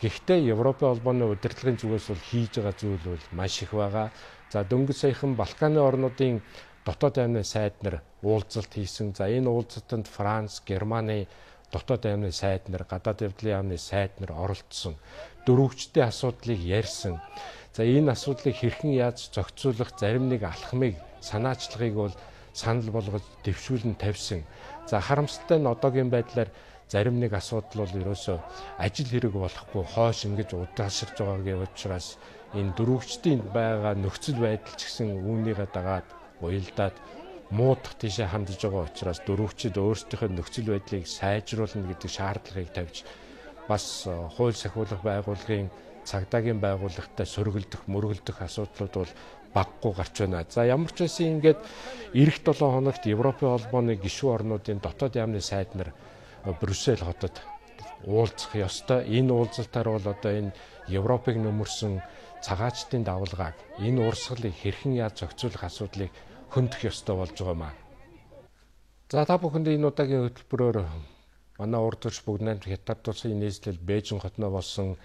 Speaker 10: Гэхдээ Европын холбооны удирдлагын зүгээс бол хийж байгаа зүйл бол маш их байгаа. За дөнгөж саяхан Балканы орнуудын дотоод аймны сайд нар уулзалт хийсэн. За энэ уулзалтанд Франц, Германы дотоод аймны сайд нар, гадаад явдлын яамны сайд нар оролцсон. Дөрвөгчтэй асуудлыг ярьсан. За энэ асуудлыг хэрхэн яаж зохицуулах, зарим нэг алхмыг, санаачлагыг бол санал болгож дэвшүүлэн тавьсан. За харамсалтай нь одоогийн байдлаар зарим нэг асуудал бол ерөөсөө ажил хэрэг болохгүй хойш ингэж удаашрж байгаагийн учраас энэ дөрвөгчдийн байгаа нөхцөл байдал ч гэсэн үүнийгээ дагаад уялдаад муудах тийшээ хандж байгаа учраас дөрвөгчид өөрсдийнхөө нөхцөл байдлыг сайжруулна гэдэг шаардлагыг тавьж бас хууль сахиулах байгууллагын цагдаагийн байгууллагатай сөргөлдөх, мөргөлдөх асуудлууд бол баггүй гарч байна. За ямар ч байсан ингээд эх долоо хоногт Европын холбооны гишүүн орнуудын дотоод яамны сайд нар Брюссел хотод уулзах ёстой. Энэ уулзалтаар бол одоо энэ Европыг нөмөрсөн цагаачдын давалгааг, энэ урсгалыг хэрхэн яаж зохицуулах асуудлыг хөндөх ёстой болж байгаамаа. За та бүхэнд энэ удаагийн хөтөлбөрөөр манай урд төрш бүгд найрамд Хятад улсын нийслэл Бээжин хотноо болсон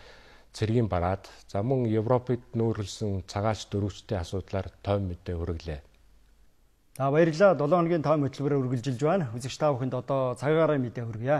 Speaker 10: цэргийн бараад за мөн Европыг нүүрлсэн цагаач дөрвөгчдийн асуудлаар тойм мэдээ хүргэлээ.
Speaker 1: За баярлалаа. долоо хоногийн тойм хөтөлбөрөөр үргэлжилж байна. Үзэгч та бүхэнд одоо цагаараа мэдээ хүргье.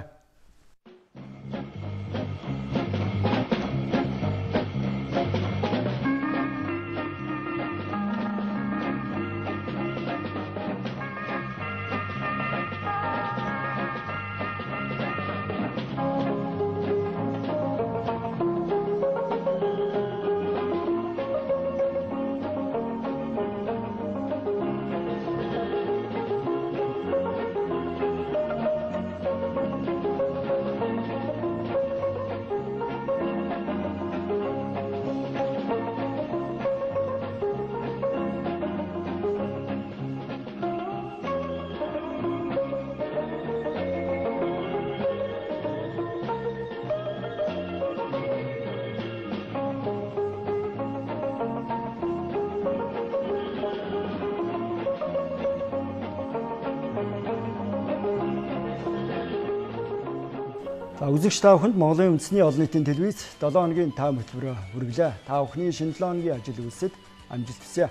Speaker 1: Үзэгч та бүхэнд Монголын үндэсний олон нийтийн телевиз долоо хоногийн тайм хөтөлбөрөөр хүргэлээ. Та бүхний шинэ долоо хоногийн ажил үйлсэд амжилт хүсье.